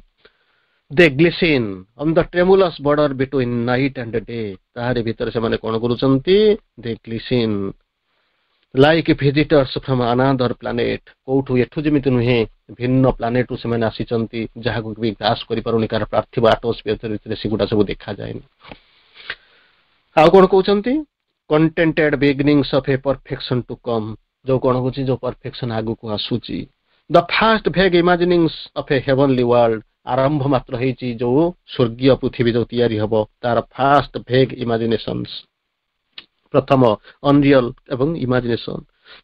they glisten on the tremulous border between night and day ତାହାରି ଭିତରେ ସେମାନେ କଣ କରୁଛନ୍ତି they glisten like visitors from another planet କୋଉଠୁ ଏଠୁ ଯେମିତି ନୁହେଁ ଭିନ୍ନ ପ୍ଲାନେଟରୁ ସେମାନେ ଆସିଛନ୍ତି, ଯାହାକୁ ବି ଗ୍ରାସ୍ପ କରିପାରୁନି, କାରଣ ପାର୍ଥିବ ଆଟମୋସ୍ଫିୟର ଭିତରେ ସେଗୁଡ଼ା ସବୁ ଦେଖାଯାଏନି। ଆଉ କଣ କହୁଛନ୍ତି? Contented beginnings of a perfection to come। ଯୋଉ କଣ ହଉଛି, ଯୋଉ ପରଫେକ୍ସନ ଆଗକୁ ଆସୁଛି। The first vague imaginings of a heavenly world। ଆରମ୍ଭ ମାତ୍ର ହେଇଛି, ଯୋଉ ସ୍ୱର୍ଗୀୟ ପୃଥିବୀ ଯୋଉ ତିଆରି ହବ, ତାର ଫାଷ୍ଟ ଭେଗ୍ ଇମାଜିନେସନ୍ସ, ପ୍ରଥମ ଅନରିଅଲ ଏବଂ imagination.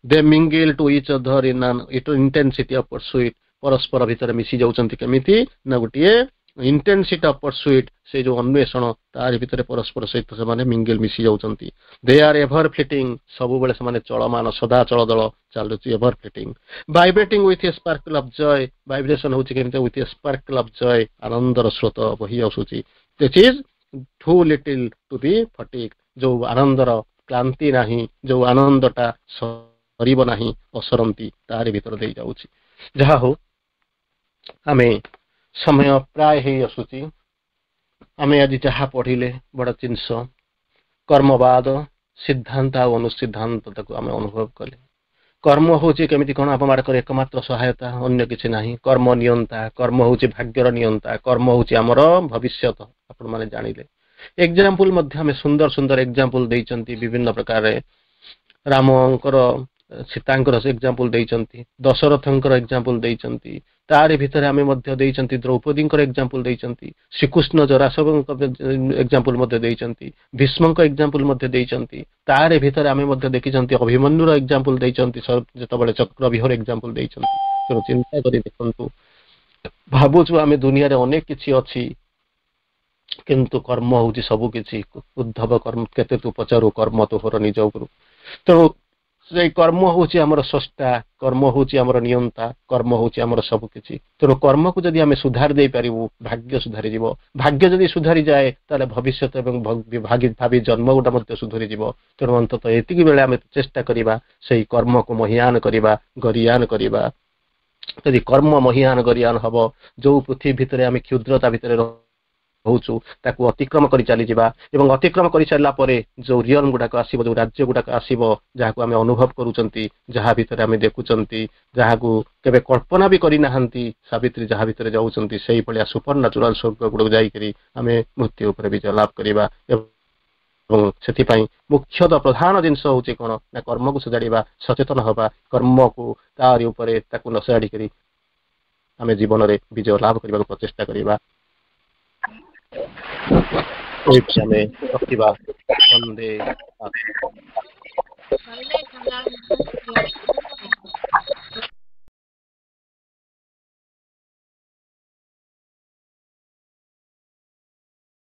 They mingle to each other in an intensity of pursuit। ପରସ୍ପର ଭିତରେ ମିଶି ଯାଉଛନ୍ତି କେମିତି ନା ଗୋଟିଏ ଇଣ୍ଟେନ୍ସିଟି ଅଫ ପରସୁଇଟ୍, ସେ ଯୋଉ ଅନ୍ୱେଷଣ, ତାରି ଭିତରେ ପରସ୍ପର ସହିତ ସେମାନେ ମିଙ୍ଗିଲ, ମିଶି ଯାଉଛନ୍ତି। They are ever fleeting। ସବୁବେଳେ ସେମାନେ ଚଳମାନ, ସଦା ଚଳଦଳ ଚାଲୁଛି, ever fleeting, vibrating with a sparkle of joy। Vibration ହଉଛି କେମିତି? With a sparkle of joy, ଆନନ୍ଦର ସ୍ରୋତ ବହି ଆସୁଛି। This is too little to be fatigued। ଯୋଉ ଆନନ୍ଦର କ୍ଳାନ୍ତି ନାହିଁ, ଯୋଉ ଆନନ୍ଦଟା ସରିବ ନାହିଁ, ଅସରନ୍ତି, ତାରି ଭିତରେ ଦେଇ ଯାଉଛି। ଯାହା ହଉ, ଆମେ ସମୟ ପ୍ରାୟ ହେଇ ଆସୁଛି। ଆମେ ଆଜି ଯାହା ପଢିଲେ, ବଡ ଜିନିଷ କର୍ମବାଦ, ସିଦ୍ଧାନ୍ତ ଆଉ ଅନୁସିଦ୍ଧାନ୍ତ, ତାକୁ ଆମେ ଅନୁଭବ କଲେ। କର୍ମ ହଉଛି କେମିତି କଣ ଆପଣମାନଙ୍କର ଏକମାତ୍ର ସହାୟତା, ଅନ୍ୟ କିଛି ନାହିଁ। କର୍ମ ନିୟନ୍ତା, କର୍ମ ହଉଛି ଭାଗ୍ୟର ନିୟନ୍ତା, କର୍ମ ହଉଛି ଆମର ଭବିଷ୍ୟତ। ଆପଣମାନେ ଜାଣିଲେ, ଏକ୍ଜାମ୍ପଲ ମଧ୍ୟ ଆମେ ସୁନ୍ଦର ସୁନ୍ଦର ଏକ୍ଜାମ୍ପଲ ଦେଇଛନ୍ତି ବିଭିନ୍ନ ପ୍ରକାରରେ। ରାମଙ୍କର, ସୀତାଙ୍କର ଏକ୍ଜାମ୍ପଲ ଦେଇଛନ୍ତି, ଦଶରଥଙ୍କର ଏକ୍ଜାମ୍ପଲ ଦେଇଛନ୍ତି, ତାରି ଭିତରେ ଆମେ ମଧ୍ୟ ଦେଇଛନ୍ତି, ଦ୍ରୌପଦୀଙ୍କର ଏକ୍ଜାମ୍ପଲ ଦେଇଛନ୍ତି, ଶ୍ରୀକୃଷ୍ଣ ଜରାସନ୍ଧଙ୍କ ଏକ୍ଜାମ୍ପଲ ମଧ୍ୟ ଦେଇଛନ୍ତି, ଭୀଷ୍ମଙ୍କ ଏକ୍ଜାମ୍ପଲ ମଧ୍ୟ ଦେଇଛନ୍ତି। ତାରି ଭିତରେ ଆମେ ମଧ୍ୟ ଦେଖିଛନ୍ତି, ଅଭିମନ୍ୟୁର ଏକ୍ଜାମ୍ପଲ ଦେଇଛନ୍ତି, ଯେତେବେଳେ ଚକ୍ରବ୍ୟୁହର ଏକ୍ଜାମ୍ପଲ ଦେଇଛନ୍ତି। ତେଣୁ ଚିନ୍ତା କରି ଦେଖନ୍ତୁ, ଭାବୁଛୁ ଆମେ ଦୁନିଆରେ ଅନେକ କିଛି ଅଛି, କିନ୍ତୁ କର୍ମ ହଉଛି ସବୁ କିଛି। ଉଦ୍ଧବ କର୍ମ କେତେ ତୁ ପଚାରୁ, କର୍ମ ତୋହର ନିଜ ଉପରୁ। ତେଣୁ ସେଇ କର୍ମ ହଉଛି ଆମର ସ୍ରଷ୍ଟା, କର୍ମ ହଉଛି ଆମର ନିୟନ୍ତା, କର୍ମ ହଉଛି ଆମର ସବୁ କିଛି। ତେଣୁ କର୍ମକୁ ଯଦି ଆମେ ସୁଧାରି ଦେଇପାରିବୁ, ଭାଗ୍ୟ ସୁଧାରିଯିବ। ଭାଗ୍ୟ ଯଦି ସୁଧାରି ଯାଏ, ତାହେଲେ ଭବିଷ୍ୟତ ଏବଂ ଭାବି ଜନ୍ମ ଗୁଡ଼ା ମଧ୍ୟ ସୁଧୁରିଯିବ। ତେଣୁ ଅନ୍ତତଃ ଏତିକି ବେଳେ ଆମେ ଚେଷ୍ଟା କରିବା, ସେଇ କର୍ମକୁ ମହିଆନ କରିବା, ଗରିୟାନ କରିବା। ଯଦି କର୍ମ ମହିଆନ ଗରିୟାନ ହବ, ଯୋଉ ପୃଥିବୀ ଭିତରେ ଆମେ କ୍ଷୁଦ୍ରତା ଭିତରେ ରହୁଛୁ, ତାକୁ ଅତିକ୍ରମ କରି ଚାଲିଯିବା ଏବଂ ଅତିକ୍ରମ କରିସାରିଲା ପରେ ଯୋଉ ରିଅଲ ଗୁଡାକ ଆସିବ, ଯୋଉ ରାଜ୍ୟ ଗୁଡାକ ଆସିବ, ଯାହାକୁ ଆମେ ଅନୁଭବ କରୁଛନ୍ତି, ଯାହା ଭିତରେ ଆମେ ଦେଖୁଛନ୍ତି, ଯାହାକୁ କେବେ କଳ୍ପନା ବି କରିନାହାନ୍ତି, ସାବିତ୍ରୀ ଯାହା ଭିତରେ ଯାଉଛନ୍ତି, ସେଇଭଳିଆ ସୁପର ନ୍ୟାଚୁରାଲ ସ୍ୱର୍ଗ ଗୁଡାକୁ ଯାଇକରି ଆମେ ମୃତ୍ୟୁ ଉପରେ ବିଜୟ ଲାଭ କରିବା। ଏବଂ ସେଥିପାଇଁ ମୁଖ୍ୟତଃ ପ୍ରଧାନ ଜିନିଷ ହଉଛି କଣ ନା କର୍ମକୁ ସୁଧାରିବା, ସଚେତନ ହବା, କର୍ମକୁ ତାରି ଉପରେ ତାକୁ ନ ସଜାଡ଼ିକରି ଆମେ ଜୀବନରେ ବିଜୟ ଲାଭ କରିବାକୁ ପ୍ରଚେଷ୍ଟା କରିବା। ଏଇଠି ଆମେ ରଖିବା। ବନ୍ଦେ।